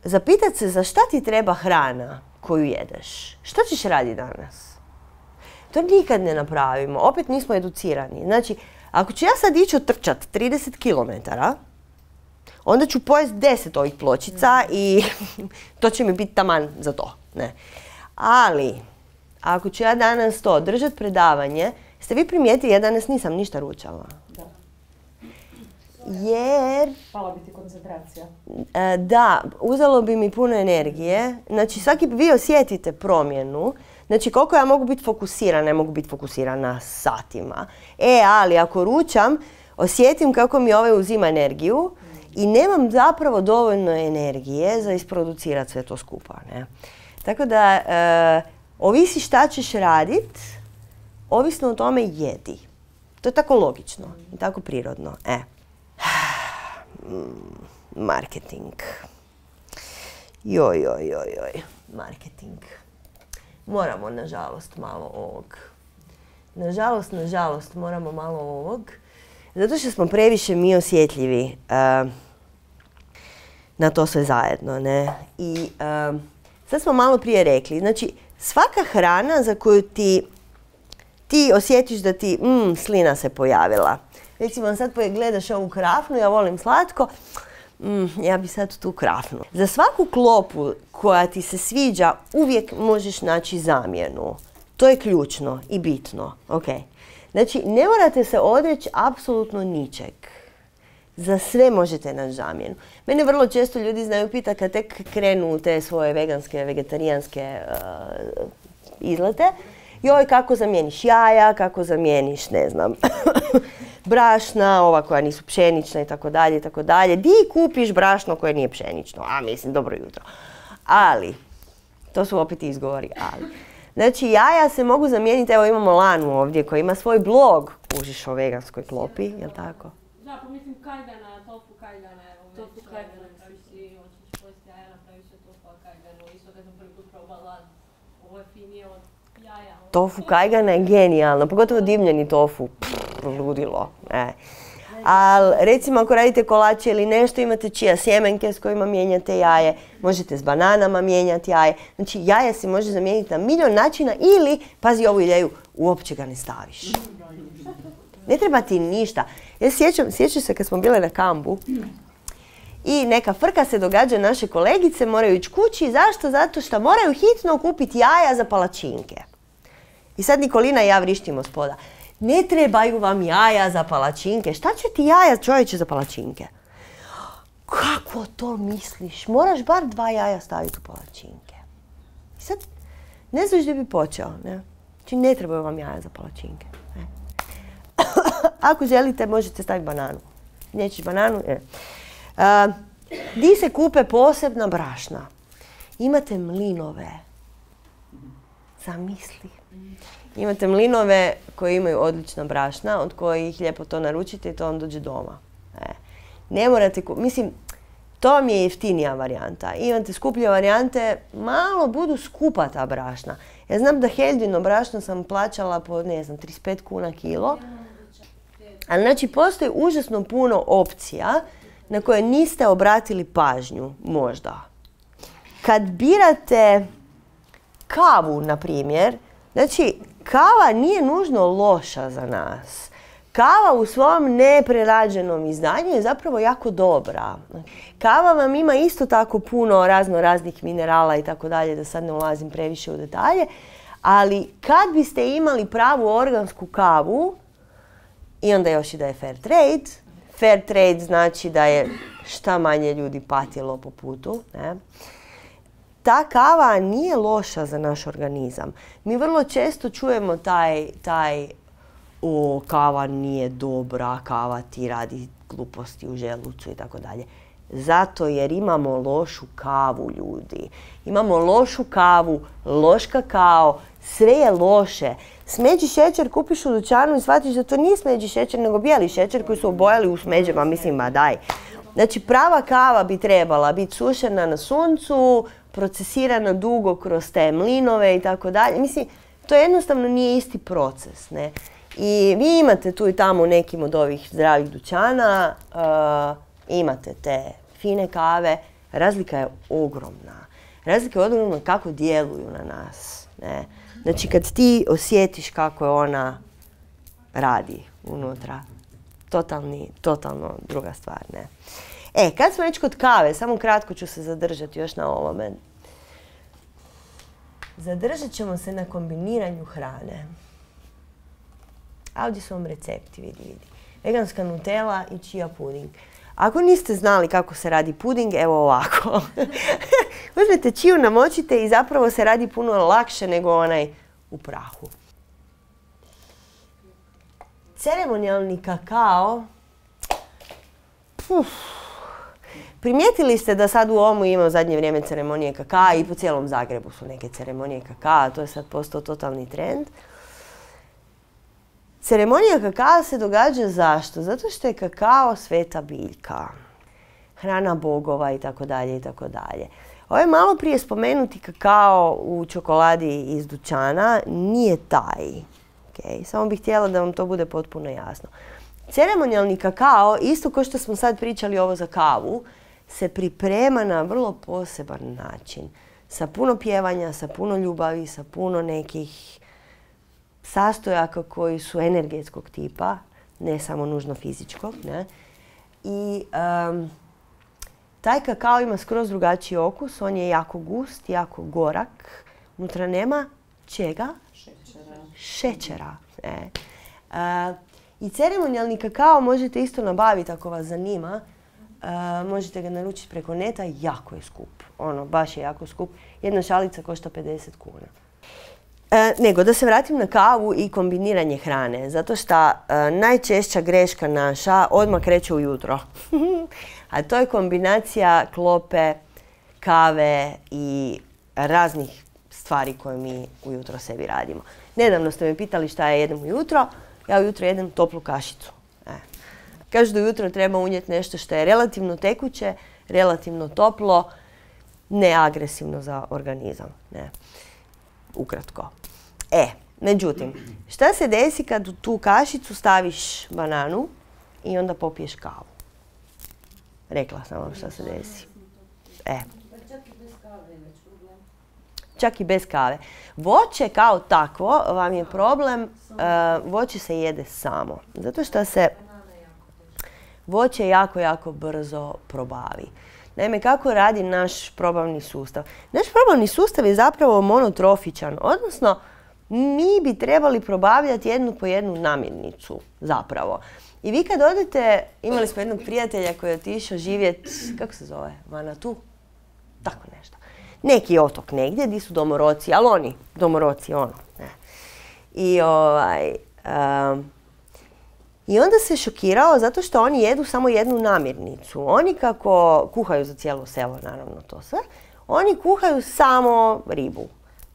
zapitati se za šta ti treba hrana koju jedeš. Što ćeš raditi danas? To nikad ne napravimo, opet nismo educirani. Znači, ako ću ja sad ići otrčat trideset kilometara, onda ću pojesti deset ovih pločica i to će mi biti taman za to. Ne. Ali, ako ću ja danas to držati predavanje, ste vi primijetili, ja danas nisam ništa ručala. Da. Jer... Pala bi ti koncentracija. E, da, uzelo bi mi puno energije. Znači, svaki vi osjetite promjenu. Znači, koliko ja mogu biti fokusirana, ne mogu biti fokusirana satima. E, ali ako ručam, osjetim kako mi ovaj uzima energiju i nemam zapravo dovoljno energije za isproducirati sve to skupa. Ne? Tako da, e, ovisi šta ćeš radit, ovisno o tome jedi. To je tako logično i tako prirodno. E. Marketing. Joj, joj, joj, joj. Marketing. Moramo, nažalost, malo ovog. Nažalost, nažalost, moramo malo ovog. Zato što smo previše mi osjetljivi uh, na to sve zajedno, ne? I uh, sad smo malo prije rekli, znači svaka hrana za koju ti, ti osjetiš da ti mm, slina se pojavila. Recimo sad gledaš ovu krafnu, ja volim slatko, mm, ja bi sad tu krafnu. Za svaku klopu koja ti se sviđa uvijek možeš naći zamjenu. To je ključno i bitno, okay. Znači, ne morate se odreći apsolutno ničeg. Za sve možete naći zamjenu. Mene vrlo često ljudi znaju pita kad tek krenu u te svoje veganske, vegetarijanske uh, izlete. Joj, kako zamijeniš jaja, kako zamijeniš, ne znam, brašna, ova koja nisu pšenična i tako dalje i tako dalje. Di kupiš brašno koje nije pšenično? A, mislim, dobro jutro. Ali, to su opet izgovori, ali. Znači, jaja se mogu zamijeniti, evo imamo Lanu ovdje koja ima svoj blog, kužiš o veganskoj klopi, jel tako? Da, pa mislim kajdana, tofu kajdana, evo tofu kajdana, napraviš si, hoćeš pojesti jaja, napraviš se tofu kajdanu, isto kad sam prvi put probala, ovo je finije od jaja. Tofu kajgana je genijalno, pogotovo dimljeni tofu, pff, ludilo. E. Ali recimo ako radite kolače ili nešto, imate čija sjemenke s kojima mijenjate jaje, možete s bananama mijenjati jaje. Znači jaje se može zamijeniti na milion načina ili, pazi ovu ideju, uopće ga ne staviš. Ne treba ti ništa. Ja sjećam, sjećam se kad smo bile na kampu I neka frka se događa, naše kolegice moraju ići kući. Zašto? Zato što moraju hitno kupiti jaja za palačinke. I sad Nikolina i ja vrištimo spoda. Ne trebaju vam jaja za palačinke. Šta će ti jaja, čovječe, za palačinke? Kako to misliš? Moraš bar dva jaja staviti u palačinke. I sad ne znaš gdje bi počeo. Ne? Znači ne trebaju vam jaja za palačinke. Ne? Ako želite, možete staviti bananu. Nećeš bananu? Ne. Uh, di se kupe posebna brašna? Imate mlinove. Zamisli. Imate mlinove koji imaju odlična brašna, od kojih lijepo to naručite i to vam dođe doma. E. Ne morate kupiti. Mislim, to vam je jeftinija varijanta. Imate skuplje varijante, malo budu skupa ta brašna. Ja znam da Heldino brašno sam plaćala po, ne znam, trideset pet kuna kilo. Ali znači postoji užasno puno opcija na koje niste obratili pažnju, možda. Kad birate kavu, na primjer, znači kava nije nužno loša za nas. Kava u svom neprerađenom izdanju je zapravo jako dobra. Kava vam ima isto tako puno razno raznih minerala i tako dalje, da sad ne ulazim previše u detalje, ali kad biste imali pravu organsku kavu, i onda još i da je fair trade, fair trade znači da je šta manje ljudi patilo po putu, ne? Ta kava nije loša za naš organizam. Mi vrlo često čujemo taj, taj o, kava nije dobra, kava ti radi gluposti u želucu i tako dalje. Zato jer imamo lošu kavu, ljudi. Imamo lošu kavu, loš kakao, sve je loše. Smeđi šećer kupiš u dućanu i shvatiš da to nije smeđi šećer, nego bijeli šećer koji su obojali u smeđama, mislim, ma daj. Znači, prava kava bi trebala biti sušena na suncu, procesirana dugo kroz te mlinove i tako dalje. Mislim, to jednostavno nije isti proces, ne? I vi imate tu i tamo u nekim od ovih zdravih dućana, uh, imate te fine kave, razlika je ogromna. Razlika je ogromna kako djeluju na nas, ne? Znači, kad ti osjetiš kako je ona radi unutra, totalni, totalno druga stvar, ne? E, kad smo već kod kave, samo kratko ću se zadržati još na ovome. Zadržat ćemo se na kombiniranju hrane. A ovdje su vam recepti, vidi, vidi. Veganska Nutella i chia puding. Ako niste znali kako se radi puding, evo ovako. Uzmete čiju, namočite i zapravo se radi puno lakše nego onaj u prahu. Ceremonijalni kakao. Uf. Primijetili ste da sad u Omu ima u zadnje vrijeme ceremonije kakaa i po cijelom Zagrebu su neke ceremonije kakaa, to je sad postao totalni trend. Ceremonija kakaa se događa zašto? Zato što je kakao sveta biljka, hrana bogova i tako dalje i tako dalje. Ovaj malo prije spomenuti kakao u čokoladi iz dućana nije taj. Okay? Samo bih htjela da vam to bude potpuno jasno. Ceremonijalni kakao, isto kao što smo sad pričali ovo za kavu, se priprema na vrlo poseban način. Sa puno pjevanja, sa puno ljubavi, sa puno nekih sastojaka koji su energetskog tipa, ne samo nužno fizičkog. Ne? I um, taj kakao ima skroz drugačiji okus, on je jako gust, jako gorak. Unutra nema čega? Šećera. Šećera. Ne? Uh, I ceremonijalni kakao možete isto nabaviti ako vas zanima. Uh, možete ga naručiti preko neta, jako je skup. Ono, baš je jako skup. Jedna šalica košta pedeset kuna. E, nego, da se vratim na kavu i kombiniranje hrane. Zato što e, najčešća greška naša odmah kreće ujutro. A to je kombinacija klope, kave i raznih stvari koje mi ujutro sebi radimo. Nedavno ste me pitali šta ja jedem ujutro. Ja ujutro jedem toplu kašicu. E. Kažu da ujutro treba unijeti nešto što je relativno tekuće, relativno toplo, neagresivno za organizam. Ne. Ukratko. E, međutim, šta se desi kad u tu kašicu staviš bananu i onda popiješ kavu? Rekla sam vam šta se desi. E. Čak i bez kave. Voće kao takvo vam je problem, uh, voće se jede samo. Zato što se voće jako, jako brzo probavi. Naime, kako radi naš probavni sustav? Naš probavni sustav je zapravo monotrofičan, odnosno mi bi trebali probavljati jednu po jednu namirnicu, zapravo. I vi kad odete, imali smo jednog prijatelja koji je otišao živjeti, kako se zove, Vanatu? Tako nešto. Neki otok negdje, gdje su domoroci, ali oni, domoroci, ono. Ne. I ovaj... Um, I onda se šokirao zato što oni jedu samo jednu namirnicu. Oni kako kuhaju za cijelo selo, naravno to sve, oni kuhaju samo ribu,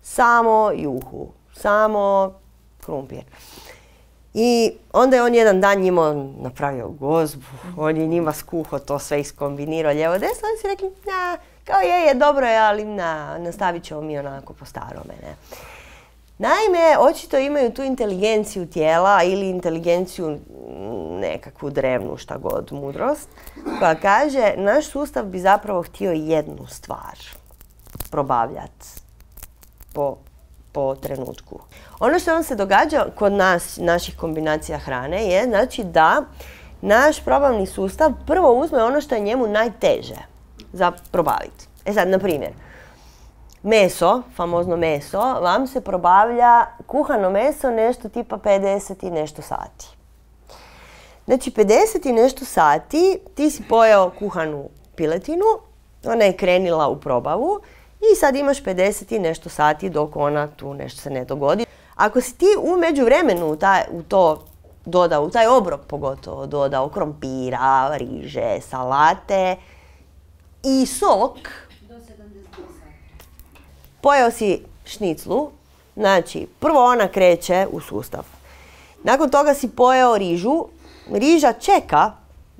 samo juhu, samo krumpir. I onda je on jedan dan njima napravio gozbu, on je njima skuhao to sve iskombinirao lijevo desno, oni su rekli, na, kao je, je, dobro je, ali na, nastavit ćemo mi onako po starome, ne. Naime, očito imaju tu inteligenciju tijela ili inteligenciju nekakvu drevnu, šta god, mudrost, koja kaže naš sustav bi zapravo htio jednu stvar probavljati po, po trenutku. Ono što vam se događa kod nas, naših kombinacija hrane, je znači da naš probavni sustav prvo uzme ono što je njemu najteže za probaviti. E sad, na primjer, meso, famozno meso, vam se probavlja kuhano meso nešto tipa pedeset i nešto sati. Znači pedeset i nešto sati ti si pojeo kuhanu piletinu, ona je krenila u probavu i sad imaš pedeset i nešto sati dok ona tu nešto se ne dogodi. Ako si ti u međuvremenu u, taj, u to dodao, u taj obrok pogotovo dodao krompira, riže, salate i sok, pojeo si šniclu, znači prvo ona kreće u sustav. Nakon toga si pojeo rižu, riža čeka,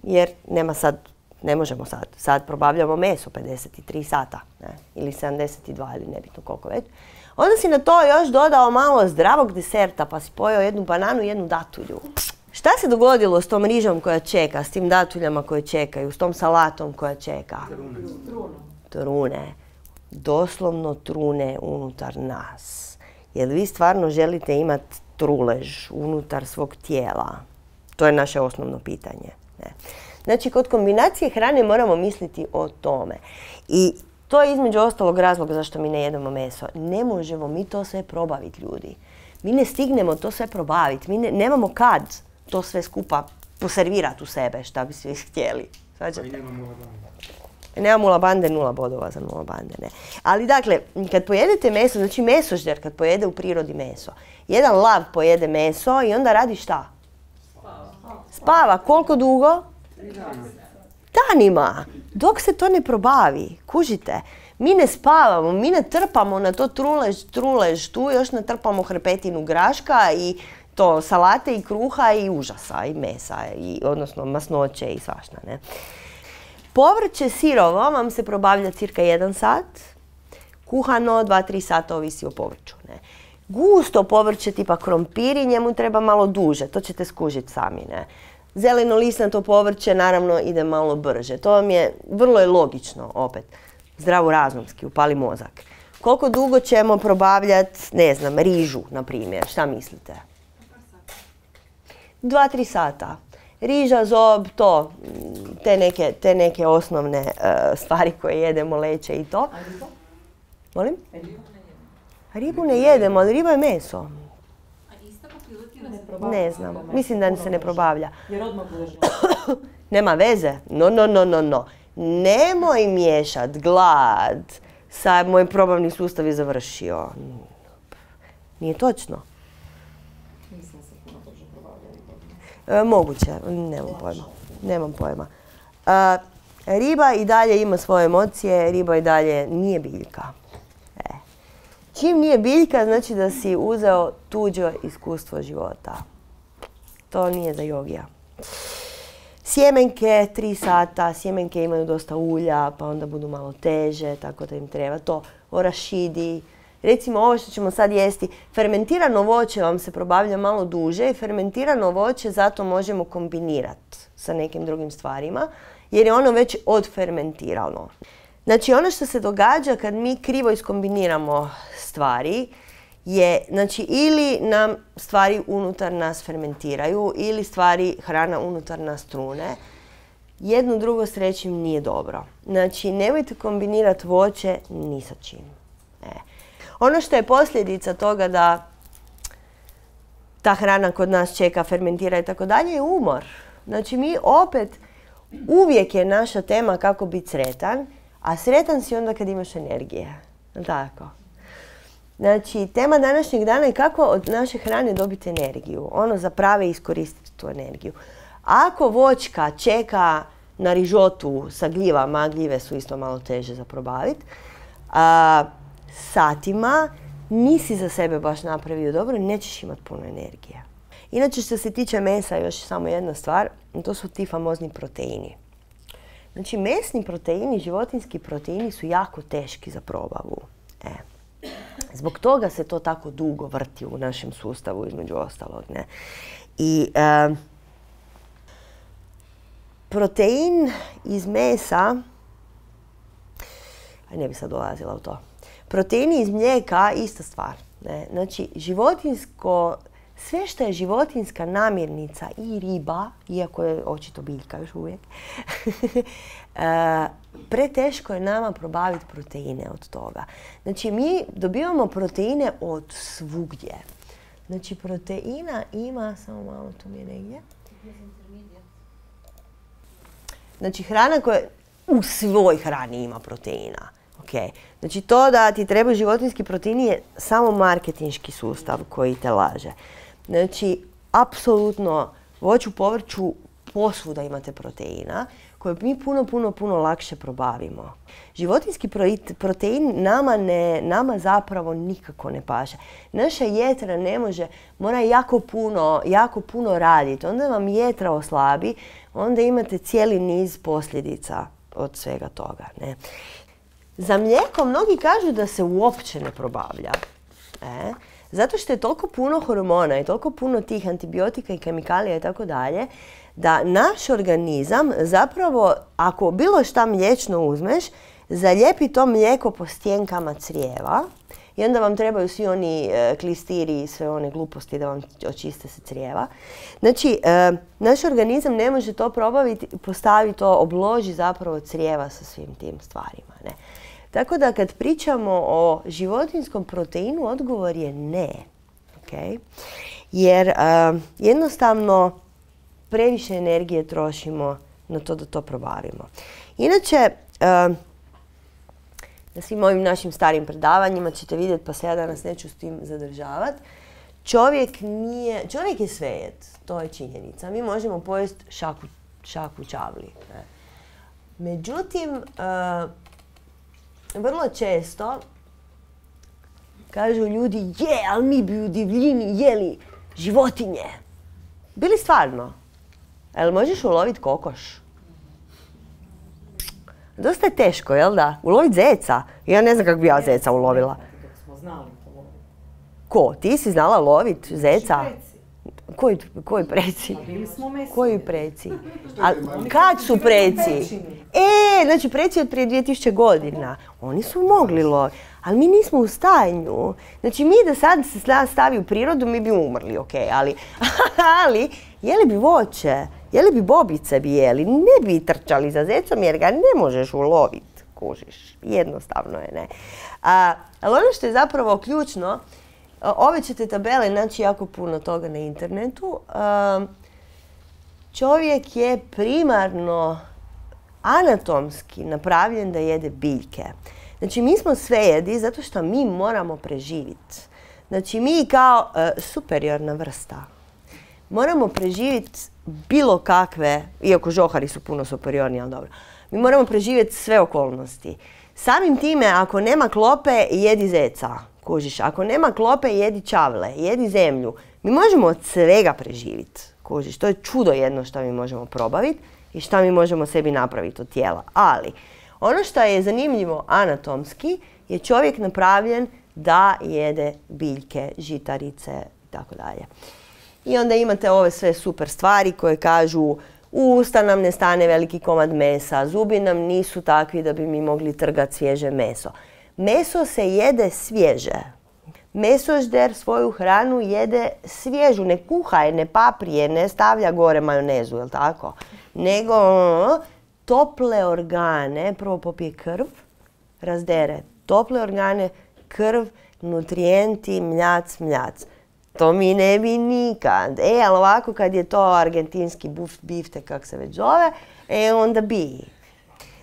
jer nema sad, ne možemo sad, sad probavljamo meso pedeset tri sata, ne, ili sedamdeset dva ili nebitno koliko već. Onda si na to još dodao malo zdravog deserta, pa si pojeo jednu bananu i jednu datulju. Šta se dogodilo s tom rižom koja čeka, s tim datuljama koje čekaju, s tom salatom koja čeka? Trune. Trune. Doslovno trune unutar nas. Jer vi stvarno želite imati trulež unutar svog tijela? To je naše osnovno pitanje. Ne. Znači, kod kombinacije hrane moramo misliti o tome. I to je između ostalog razloga zašto mi ne jedemo meso. Ne možemo mi to sve probaviti, ljudi. Mi ne stignemo to sve probaviti. Mi ne, nemamo kad to sve skupa poservirati u sebe, šta bi svi htjeli. Svađate? Nemam nula bande, nula bodova za nula bande, ne. Ali dakle, kad pojedete meso, znači mesožder kad pojede u prirodi meso, jedan lav pojede meso i onda radi šta? Spava. Spava. Koliko dugo? Danima. Dok se to ne probavi, kužite. Mi ne spavamo, mi ne trpamo na to trulež, trulež, tu još natrpamo hrpetinu graška i to salate i kruha i užasa i mesa, i, odnosno masnoće i svašta, ne. Povrće sirovo vam se probavlja cirka jedan sat, kuhano dva do tri sata, ovisi o povrću. Ne. Gusto povrće tipa krompiri, njemu treba malo duže, to ćete skužiti sami. Ne. Zeleno lisnato povrće naravno ide malo brže. To vam je, vrlo je logično opet, zdravorazumski, upali mozak. Koliko dugo ćemo probavljati, ne znam, rižu, na primjer, šta mislite? Dva do tri sata. Riža, zob, to, te neke, te neke osnovne uh, stvari koje jedemo, leće i to. A riba? Molim? E, ribu ne jedemo. Ribu ne jedemo, ali riba je meso. A ista po piletinu Ne se probavlja. Ne znam, mislim da se ne probavlja. Jer odmah budeš Nema veze, no, no, no, no, no. Nemoj miješat glad sa moj probavni sustav je završio. Nije točno. Mislim se puno brže probavlja riba. E, moguće, nemam pojma. Nemam pojma. E, riba i dalje ima svoje emocije, riba i dalje nije biljka. E. Čim nije biljka, znači da si uzeo tuđo iskustvo života. To nije za jogija. Sjemenke, tri sata, sjemenke imaju dosta ulja, pa onda budu malo teže, tako da im treba to. Orašidi, recimo ovo što ćemo sad jesti, fermentirano voće vam se probavlja malo duže i fermentirano voće zato možemo kombinirati sa nekim drugim stvarima, jer je ono već odfermentirano. Znači ono što se događa kad mi krivo iskombiniramo stvari je, znači ili nam stvari unutar nas fermentiraju ili stvari, hrana unutar nas trune. jedno drugo s trećim nije dobro. Znači, nemojte kombinirati voće ni sa čim. E. Ono što je posljedica toga da ta hrana kod nas čeka, fermentira i tako dalje je umor. Znači, mi opet, uvijek je naša tema kako biti sretan, a sretan si onda kad imaš energije. Tako. Znači, tema današnjeg dana je kako od naše hrane dobiti energiju. Ono za prave iskoristiti tu energiju. Ako voćka čeka na rižotu sa gljivama, gljive su isto malo teže za probaviti, satima nisi za sebe baš napravio dobro, nećeš imati puno energije. Inače, što se tiče mesa, još samo jedna stvar, to su ti famozni proteini. Znači, mesni proteini, životinski proteini su jako teški za probavu. E. Zbog toga se to tako dugo vrti u našem sustavu, između ostalog. Ne? I e, protein iz mesa, aj ne bi sad dolazila u to, proteini iz mlijeka, ista stvar. Ne? Znači, životinsko, sve što je životinska namirnica i riba, iako je očito biljka još uvijek, e, preteško je nama probaviti proteine od toga. Znači, mi dobivamo proteine od svugdje. Znači, proteina ima, samo malo tu mi je negdje. Znači, hrana koja u svoj hrani ima proteina. Okay. Znači, to da ti treba životinski proteini je samo marketinški sustav koji te laže. Znači, apsolutno voću, povrću, posvuda imate proteina koje mi puno, puno, puno lakše probavimo. Životinski protein nama, ne, nama zapravo nikako ne paše. Naša jetra ne može, mora jako puno, jako puno raditi. Onda vam jetra oslabi, onda imate cijeli niz posljedica od svega toga. Ne? Za mlijeko mnogi kažu da se uopće ne probavlja. E? Zato što je toliko puno hormona i toliko puno tih antibiotika i kemikalija i tako dalje, da naš organizam zapravo, ako bilo šta mliječno uzmeš, zalijepi to mlijeko po stjenkama crijeva i onda vam trebaju svi oni e, klistiri i sve one gluposti da vam očiste se crijeva. Znači, e, naš organizam ne može to probaviti, postavi to, obloži zapravo crijeva sa svim tim stvarima. Ne? Tako da kad pričamo o životinjskom proteinu, odgovor je ne. Okay? Jer uh, jednostavno previše energije trošimo na to da to probavimo. Inače, uh, na svim ovim našim starim predavanjima ćete vidjeti, pa se ja danas neću s tim zadržavati, čovjek nije, čovjek je svejed, to je činjenica. Mi možemo pojesti šaku, šaku čavli. Ne? Međutim, uh, vrlo često kažu ljudi, je, ali mi bi u divljini jeli životinje. Bili stvarno? Jel možeš uloviti kokoš? Dosta je teško, jel da? Uloviti zeca? Ja ne znam kako bi ja zeca ulovila. Smo znali to loviti. Ko? Ti si znala loviti zeca? Koji, koji preci? Bili smo mesni. Koji preci? A kad su preci? E, znači preci od prije dvije tisuće godina. Oni su mogli loviti, ali mi nismo u stanju. Znači mi da sad se stavi u prirodu, mi bi umrli, ok, ali, ali jeli bi voće, jeli bi bobice bi jeli, ne bi trčali za zecom jer ga ne možeš uloviti, kužiš. Jednostavno je, ne. A, ali ono što je zapravo ključno, ove ćete tabele naći jako puno toga na internetu. Čovjek je primarno anatomski napravljen da jede biljke. Znači, mi smo svejedi zato što mi moramo preživjeti. Znači, mi kao uh, superiorna vrsta moramo preživjeti bilo kakve, iako žohari su puno superiorni, ali dobro, mi moramo preživjeti sve okolnosti. Samim time, ako nema klope, jedi zeca. Kužiš, ako nema klope, jedi čavle, jedi zemlju. Mi možemo od svega preživjeti. Kužiš, to je čudo jedno što mi možemo probaviti i što mi možemo sebi napraviti od tijela. Ali, ono što je zanimljivo anatomski je čovjek napravljen da jede biljke, žitarice i tako dalje. I onda imate ove sve super stvari koje kažu u usta nam ne stane veliki komad mesa, zubi nam nisu takvi da bi mi mogli trgati svježe meso. Meso se jede svježe. Mesožder svoju hranu jede svježu, ne kuha je, ne paprije, ne stavlja gore majonezu, jel tako? nego tople organe, prvo popije krv, razdere tople organe, krv, nutrijenti, mljac, mljac. To mi ne bi nikad. E, ali ovako kad je to argentinski biftek, kak se već zove, e, onda bi.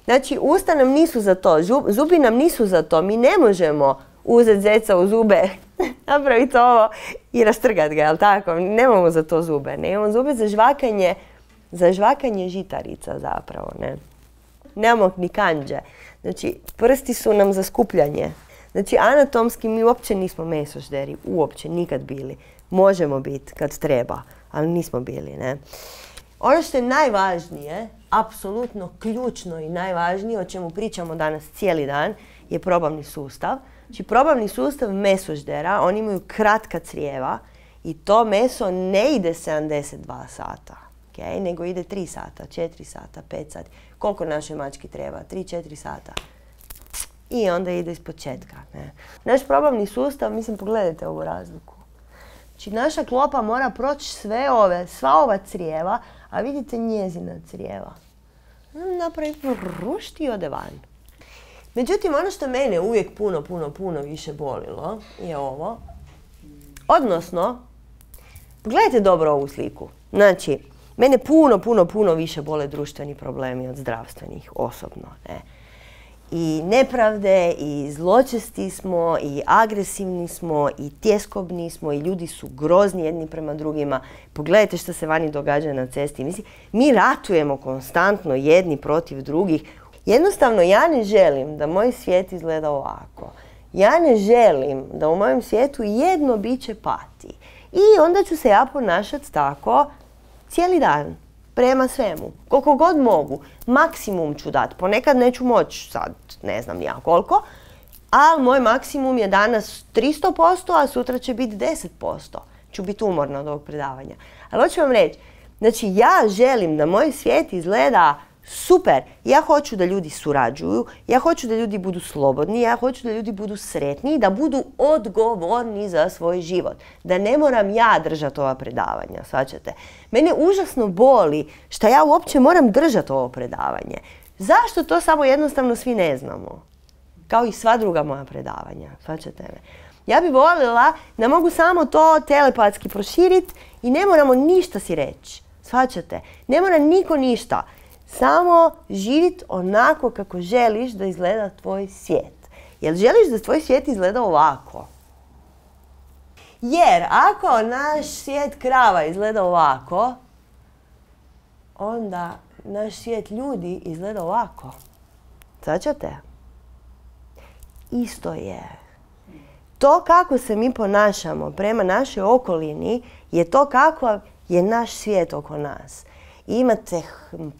Znači, usta nam nisu za to, zubi nam nisu za to. Mi ne možemo uzeti zeca u zube, napraviti ovo i rastrgati ga, jel tako? Nemamo za to zube. Ne imamo zube za žvakanje, za žvakanje žitarica zapravo, ne. Nemamo ni kanđe. Znači, prsti su nam za skupljanje. Znači, anatomski mi uopće nismo mesožderi, uopće nikad bili. Možemo biti kad treba, ali nismo bili, ne. Ono što je najvažnije, apsolutno ključno i najvažnije, o čemu pričamo danas cijeli dan, je probavni sustav. Znači, probavni sustav mesoždera, oni imaju kratka crijeva i to meso ne ide sedamdeset dva sata, okay? Nego ide tri sata, četiri sata, pet sati. Koliko našoj mački treba? tri četiri sata. I onda ide iz početka. Ne? Naš probavni sustav, mislim, pogledajte ovu razliku. Znači, naša klopa mora proći sve ove, sva ova crijeva, a vidite njezina crijeva. Napravi rušti i ode van. Međutim, ono što mene uvijek puno, puno, puno više bolilo je ovo. Odnosno, pogledajte dobro ovu sliku. Znači, mene puno, puno, puno više bole društveni problemi od zdravstvenih, osobno. Ne? I nepravde, i zločesti smo, i agresivni smo, i tjeskobni smo, i ljudi su grozni jedni prema drugima. Pogledajte što se vani događa na cesti. Mislim, mi ratujemo konstantno jedni protiv drugih. Jednostavno, ja ne želim da moj svijet izgleda ovako. Ja ne želim da u mojem svijetu jedno biće pati. I onda ću se ja ponašati tako cijeli dan. Prema svemu. Koliko god mogu. Maksimum ću dati. Ponekad neću moći sad, ne znam ja koliko, ali moj maksimum je danas tristo posto, a sutra će biti deset posto. Ću biti umorna od ovog predavanja. Ali hoću vam reći, znači ja želim da moj svijet izgleda super. Ja hoću da ljudi surađuju, ja hoću da ljudi budu slobodni, ja hoću da ljudi budu sretni i da budu odgovorni za svoj život. Da ne moram ja držati ova predavanja, shvaćate? Mene užasno boli što ja uopće moram držati ovo predavanje. Zašto to samo jednostavno svi ne znamo? Kao i sva druga moja predavanja, shvaćate me? Ja bi voljela da mogu samo to telepatski proširiti i ne moramo ništa si reći, shvaćate? Ne mora niko ništa. Samo živjeti onako kako želiš da izgleda tvoj svijet. Jel želiš da tvoj svijet izgleda ovako? Jer ako naš svijet krava izgleda ovako, onda naš svijet ljudi izgleda ovako. Svaćate? Isto je. To kako se mi ponašamo prema našoj okolini je to kako je naš svijet oko nas. I imate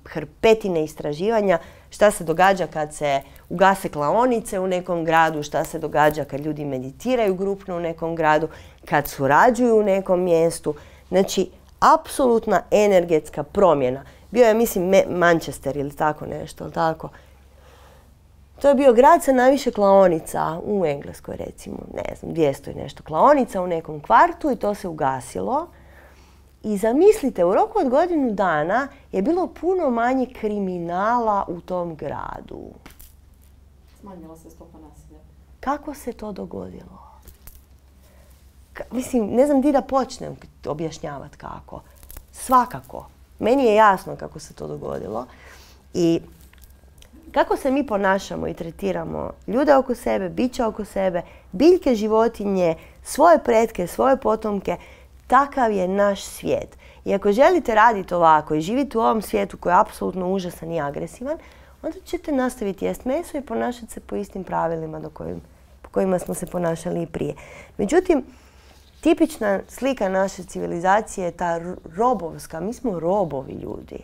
hrpetine istraživanja šta se događa kad se ugase klaonice u nekom gradu, šta se događa kad ljudi meditiraju grupno u nekom gradu, kad surađuju u nekom mjestu. Znači, apsolutna energetska promjena. Bio je, mislim, Manchester ili tako nešto, ili tako. To je bio grad sa najviše klaonica u Engleskoj, recimo, ne znam, dvjesto i nešto klaonica u nekom kvartu i to se ugasilo. I zamislite, u roku od godinu dana je bilo puno manje kriminala u tom gradu. Smanjila se stopa nasilja. Kako se to dogodilo? Ka- mislim, ne znam di da počnem objašnjavati kako. Svakako. Meni je jasno kako se to dogodilo. I kako se mi ponašamo i tretiramo ljude oko sebe, biće oko sebe, biljke, životinje, svoje pretke, svoje potomke, takav je naš svijet. I ako želite raditi ovako i živjeti u ovom svijetu koji je apsolutno užasan i agresivan, onda ćete nastaviti jest meso i ponašati se po istim pravilima do kojim, po kojima smo se ponašali i prije. Međutim, tipična slika naše civilizacije je ta robovska. Mi smo robovi ljudi.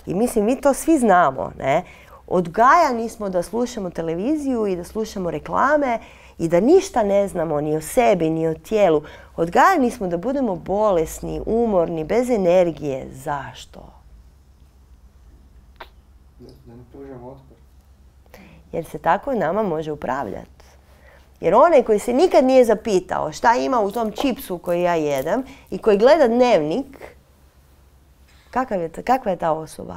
I mislim, mi to svi znamo, ne? Odgajani smo da slušamo televiziju i da slušamo reklame i da ništa ne znamo ni o sebi, ni o tijelu. Odgajani smo da budemo bolesni, umorni, bez energije. Zašto? Da ne pružamo otpor. Jer se tako nama može upravljati. Jer onaj koji se nikad nije zapitao šta ima u tom čipsu koji ja jedem i koji gleda dnevnik, kakav je ta, kakva je ta osoba?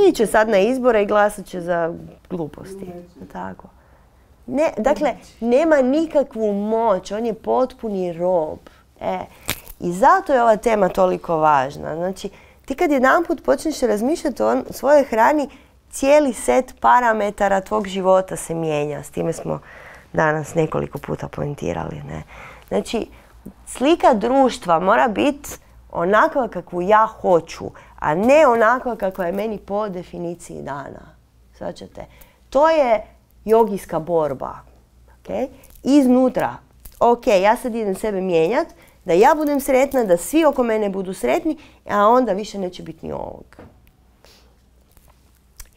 Iće sad na izbore i glasat će za gluposti. Tako. Ne, dakle, nema nikakvu moć, on je potpuni rob. E, I zato je ova tema toliko važna. Znači, ti kad jedanput počneš razmišljati o svojoj hrani, cijeli set parametara tvog života se mijenja. S time smo danas nekoliko puta poentirali. Ne? Znači, slika društva mora biti onakva kakvu ja hoću, a ne onakva kakva je meni po definiciji dana. Svačate? To je jogijska borba. Okay? Iznutra. Ok, ja sad idem sebe mijenjat, da ja budem sretna, da svi oko mene budu sretni, a onda više neće biti ni ovog.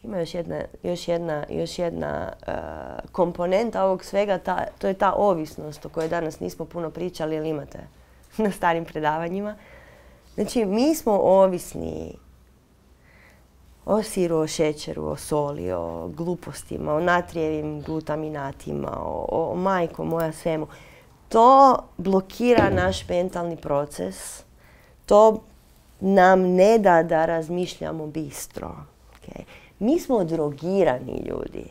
Ima još jedna, još jedna, još jedna uh, komponenta ovog svega, ta, to je ta ovisnost o kojoj danas nismo puno pričali, ali imate na starim predavanjima. Znači, mi smo ovisni o siru, o šećeru, o soli, o glupostima, o natrijevim glutaminatima, o, o majko moja svemu. To blokira naš mentalni proces. To nam ne da da razmišljamo bistro. Okay? Mi smo drogirani ljudi.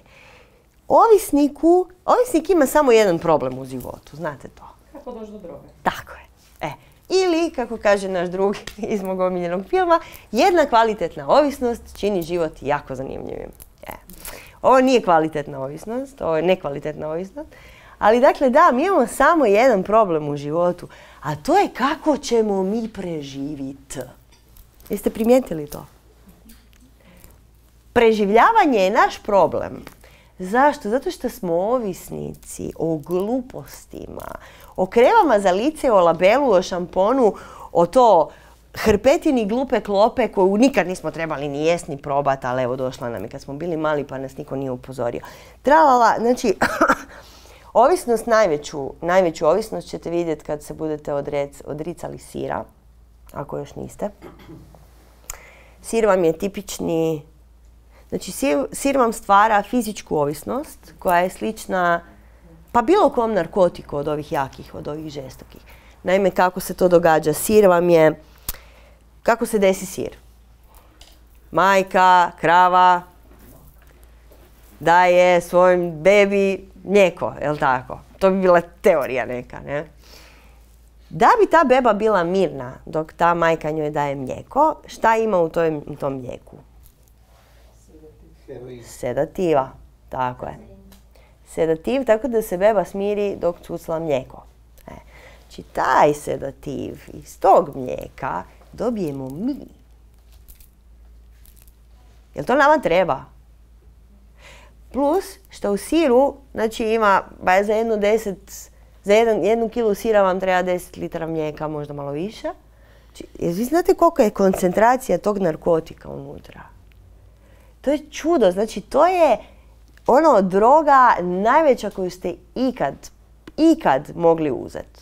Ovisniku, ovisnik ima samo jedan problem u životu, znate to. Kako doći do droge? Tako je. E. Ili, kako kaže naš drug iz mog omiljenog filma, jedna kvalitetna ovisnost čini život jako zanimljivim. E. Ovo nije kvalitetna ovisnost, ovo je nekvalitetna ovisnost. Ali dakle, da, mi imamo samo jedan problem u životu, a to je kako ćemo mi preživiti. Jeste primijetili to? Preživljavanje je naš problem. Zašto? Zato što smo ovisnici o glupostima, o kremama za lice, o labelu, o šamponu, o to hrpetini glupe klope koju nikad nismo trebali ni jest ni probat, ali evo došla nam je kad smo bili mali pa nas niko nije upozorio. Tralala, znači, ovisnost, najveću, najveću ovisnost ćete vidjeti kad se budete odrec, odricali sira, ako još niste. Sir vam je tipični, znači sir, sir vam stvara fizičku ovisnost koja je slična pa bilo kom narkotiku od ovih jakih, od ovih žestokih. Naime, kako se to događa? Sir vam je, kako se desi sir? Majka, krava daje svojim bebi mlijeko, jel tako? To bi bila teorija neka, ne? Da bi ta beba bila mirna dok ta majka njoj daje mlijeko, šta ima u tom, u tom mlijeku? Sedativa, tako je. Sedativ, tako da se beba smiri dok cucla mlijeko. E, znači, taj sedativ iz tog mlijeka dobijemo mi. Jel to nama treba? Plus, što u siru, znači ima, ba za jednu deset, za jedan, jednu kilu sira vam treba deset litara mlijeka, možda malo više. Znači, vi znate koliko je koncentracija tog narkotika unutra? To je čudo, znači to je ono droga najveća koju ste ikad, ikad mogli uzeti.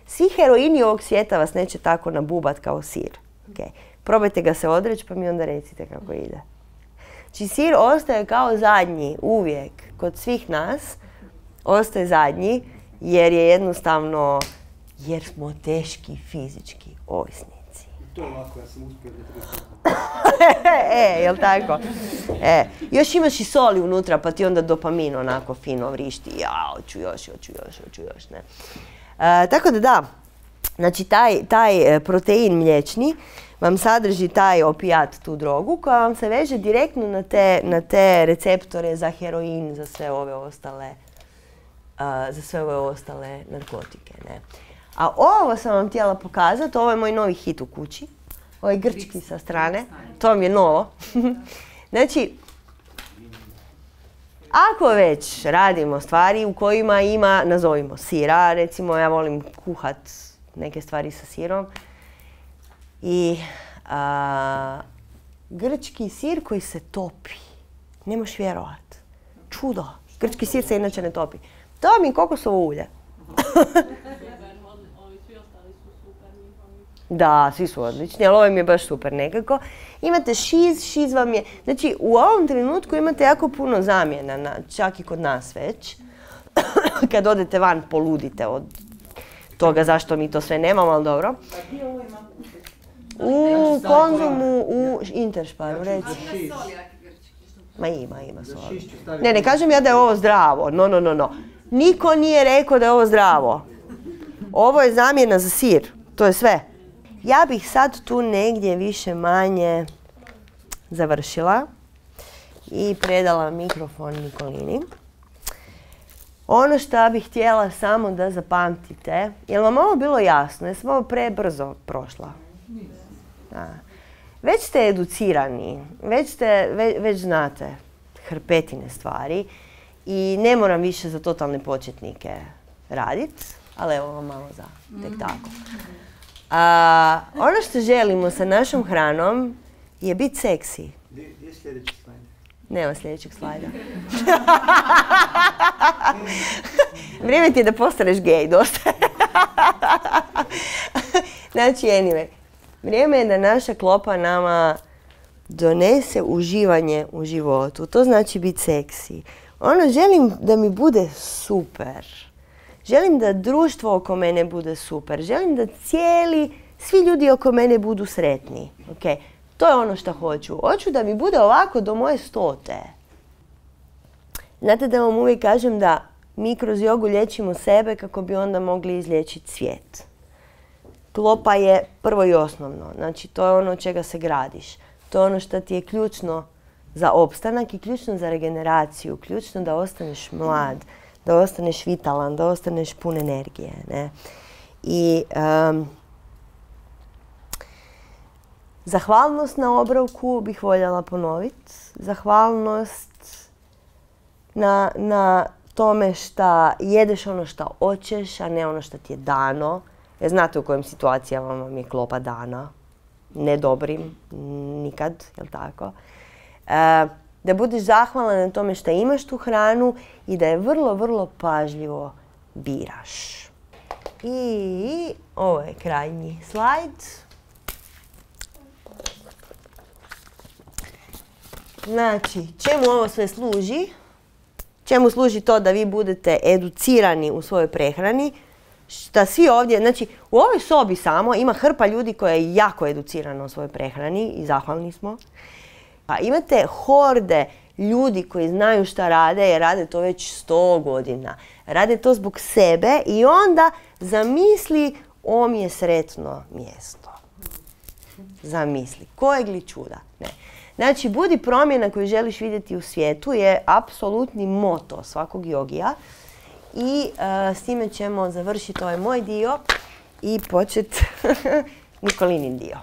Svi heroini ovog svijeta vas neće tako nabubat kao sir. Okay. Probajte ga se odreći pa mi onda recite kako ide. Znači sir ostaje kao zadnji uvijek kod svih nas, ostaje zadnji jer je jednostavno, jer smo teški fizički ovisnici. To je lako, ja sam uspio da E, jel tako? E, još imaš i soli unutra pa ti onda dopamin onako fino vrišti. Ja, hoću još, hoću još, hoću još, ne. E, tako da da, znači taj, taj protein mliječni vam sadrži taj opijat, tu drogu, koja vam se veže direktno na te, na te receptore za heroin, za sve ove ostale, uh, za sve ove ostale narkotike. Ne? A ovo sam vam htjela pokazati, ovo je moj novi hit u kući. Ovo je grčki sa strane, to vam je novo. Znači, ako već radimo stvari u kojima ima, nazovimo sira, recimo ja volim kuhat neke stvari sa sirom, i a, grčki sir koji se topi. Ne možeš vjerovat. Čudo. Grčki sir se inače ne topi. To mi je kokosovo ulje. Da, svi su odlični, ali ovaj mi je baš super nekako. Imate šiz, šiz vam je... Znači, u ovom trenutku imate jako puno zamjena, na, čak i kod nas već. Kad odete van, poludite od toga zašto mi to sve nemamo, ali dobro. U Konzumu, u Intersparu, reci. Ma ima, ima Za soli. šišću staviti. Ne, ne kažem ja da je ovo zdravo, no, no, no, no. Niko nije rekao da je ovo zdravo. Ovo je zamjena za sir, to je sve. Ja bih sad tu negdje više manje završila i predala mikrofon Nikolini. Ono što bih htjela samo da zapamtite, je li vam ovo bilo jasno? Jesam ovo prebrzo prošla? Da. Već ste educirani, već, ste, već, već znate hrpetine stvari i ne moram više za totalne početnike raditi, ali evo vam malo za tek tako. A, ono što želimo sa našom hranom je biti seksi. Gdje je sljedeći slajd? Nema sljedećeg slajda. Vrijeme ti je da postaneš gej, dosta. Znači, anyway, vrijeme je da naša klopa nama donese uživanje u životu. To znači biti seksi. Ono, želim da mi bude super. Želim da društvo oko mene bude super. Želim da cijeli, svi ljudi oko mene budu sretni. Okay? To je ono što hoću. Hoću da mi bude ovako do moje stote. Znate da vam uvijek kažem da mi kroz jogu liječimo sebe kako bi onda mogli izliječiti svijet. Klopa je prvo i osnovno. Znači, to je ono od čega se gradiš. To je ono što ti je ključno za opstanak i ključno za regeneraciju. Ključno da ostaneš mlad, da ostaneš vitalan, da ostaneš pun energije. Ne? I um, zahvalnost na obrovku bih voljela ponoviti. Zahvalnost na, na tome što jedeš ono što hoćeš, a ne ono što ti je dano. Jer znate u kojim situacijama vam je klopa dana. Ne dobrim, nikad, jel tako? E, da budeš zahvalan na tome što imaš tu hranu i da je vrlo, vrlo pažljivo biraš. I ovo je krajnji slajd. Znači, čemu ovo sve služi? Čemu služi to da vi budete educirani u svojoj prehrani? Šta svi ovdje, znači u ovoj sobi samo ima hrpa ljudi koja je jako educirana u svojoj prehrani i zahvalni smo. Pa imate horde ljudi koji znaju šta rade jer rade to već sto godina. Rade to zbog sebe i onda zamisli ovo mi je sretno mjesto. Zamisli. Kojeg li čuda? Ne. Znači, budi promjena koju želiš vidjeti u svijetu je apsolutni moto svakog jogija. I uh, s time ćemo završiti ovaj moj dio i početi Nikolinin dio.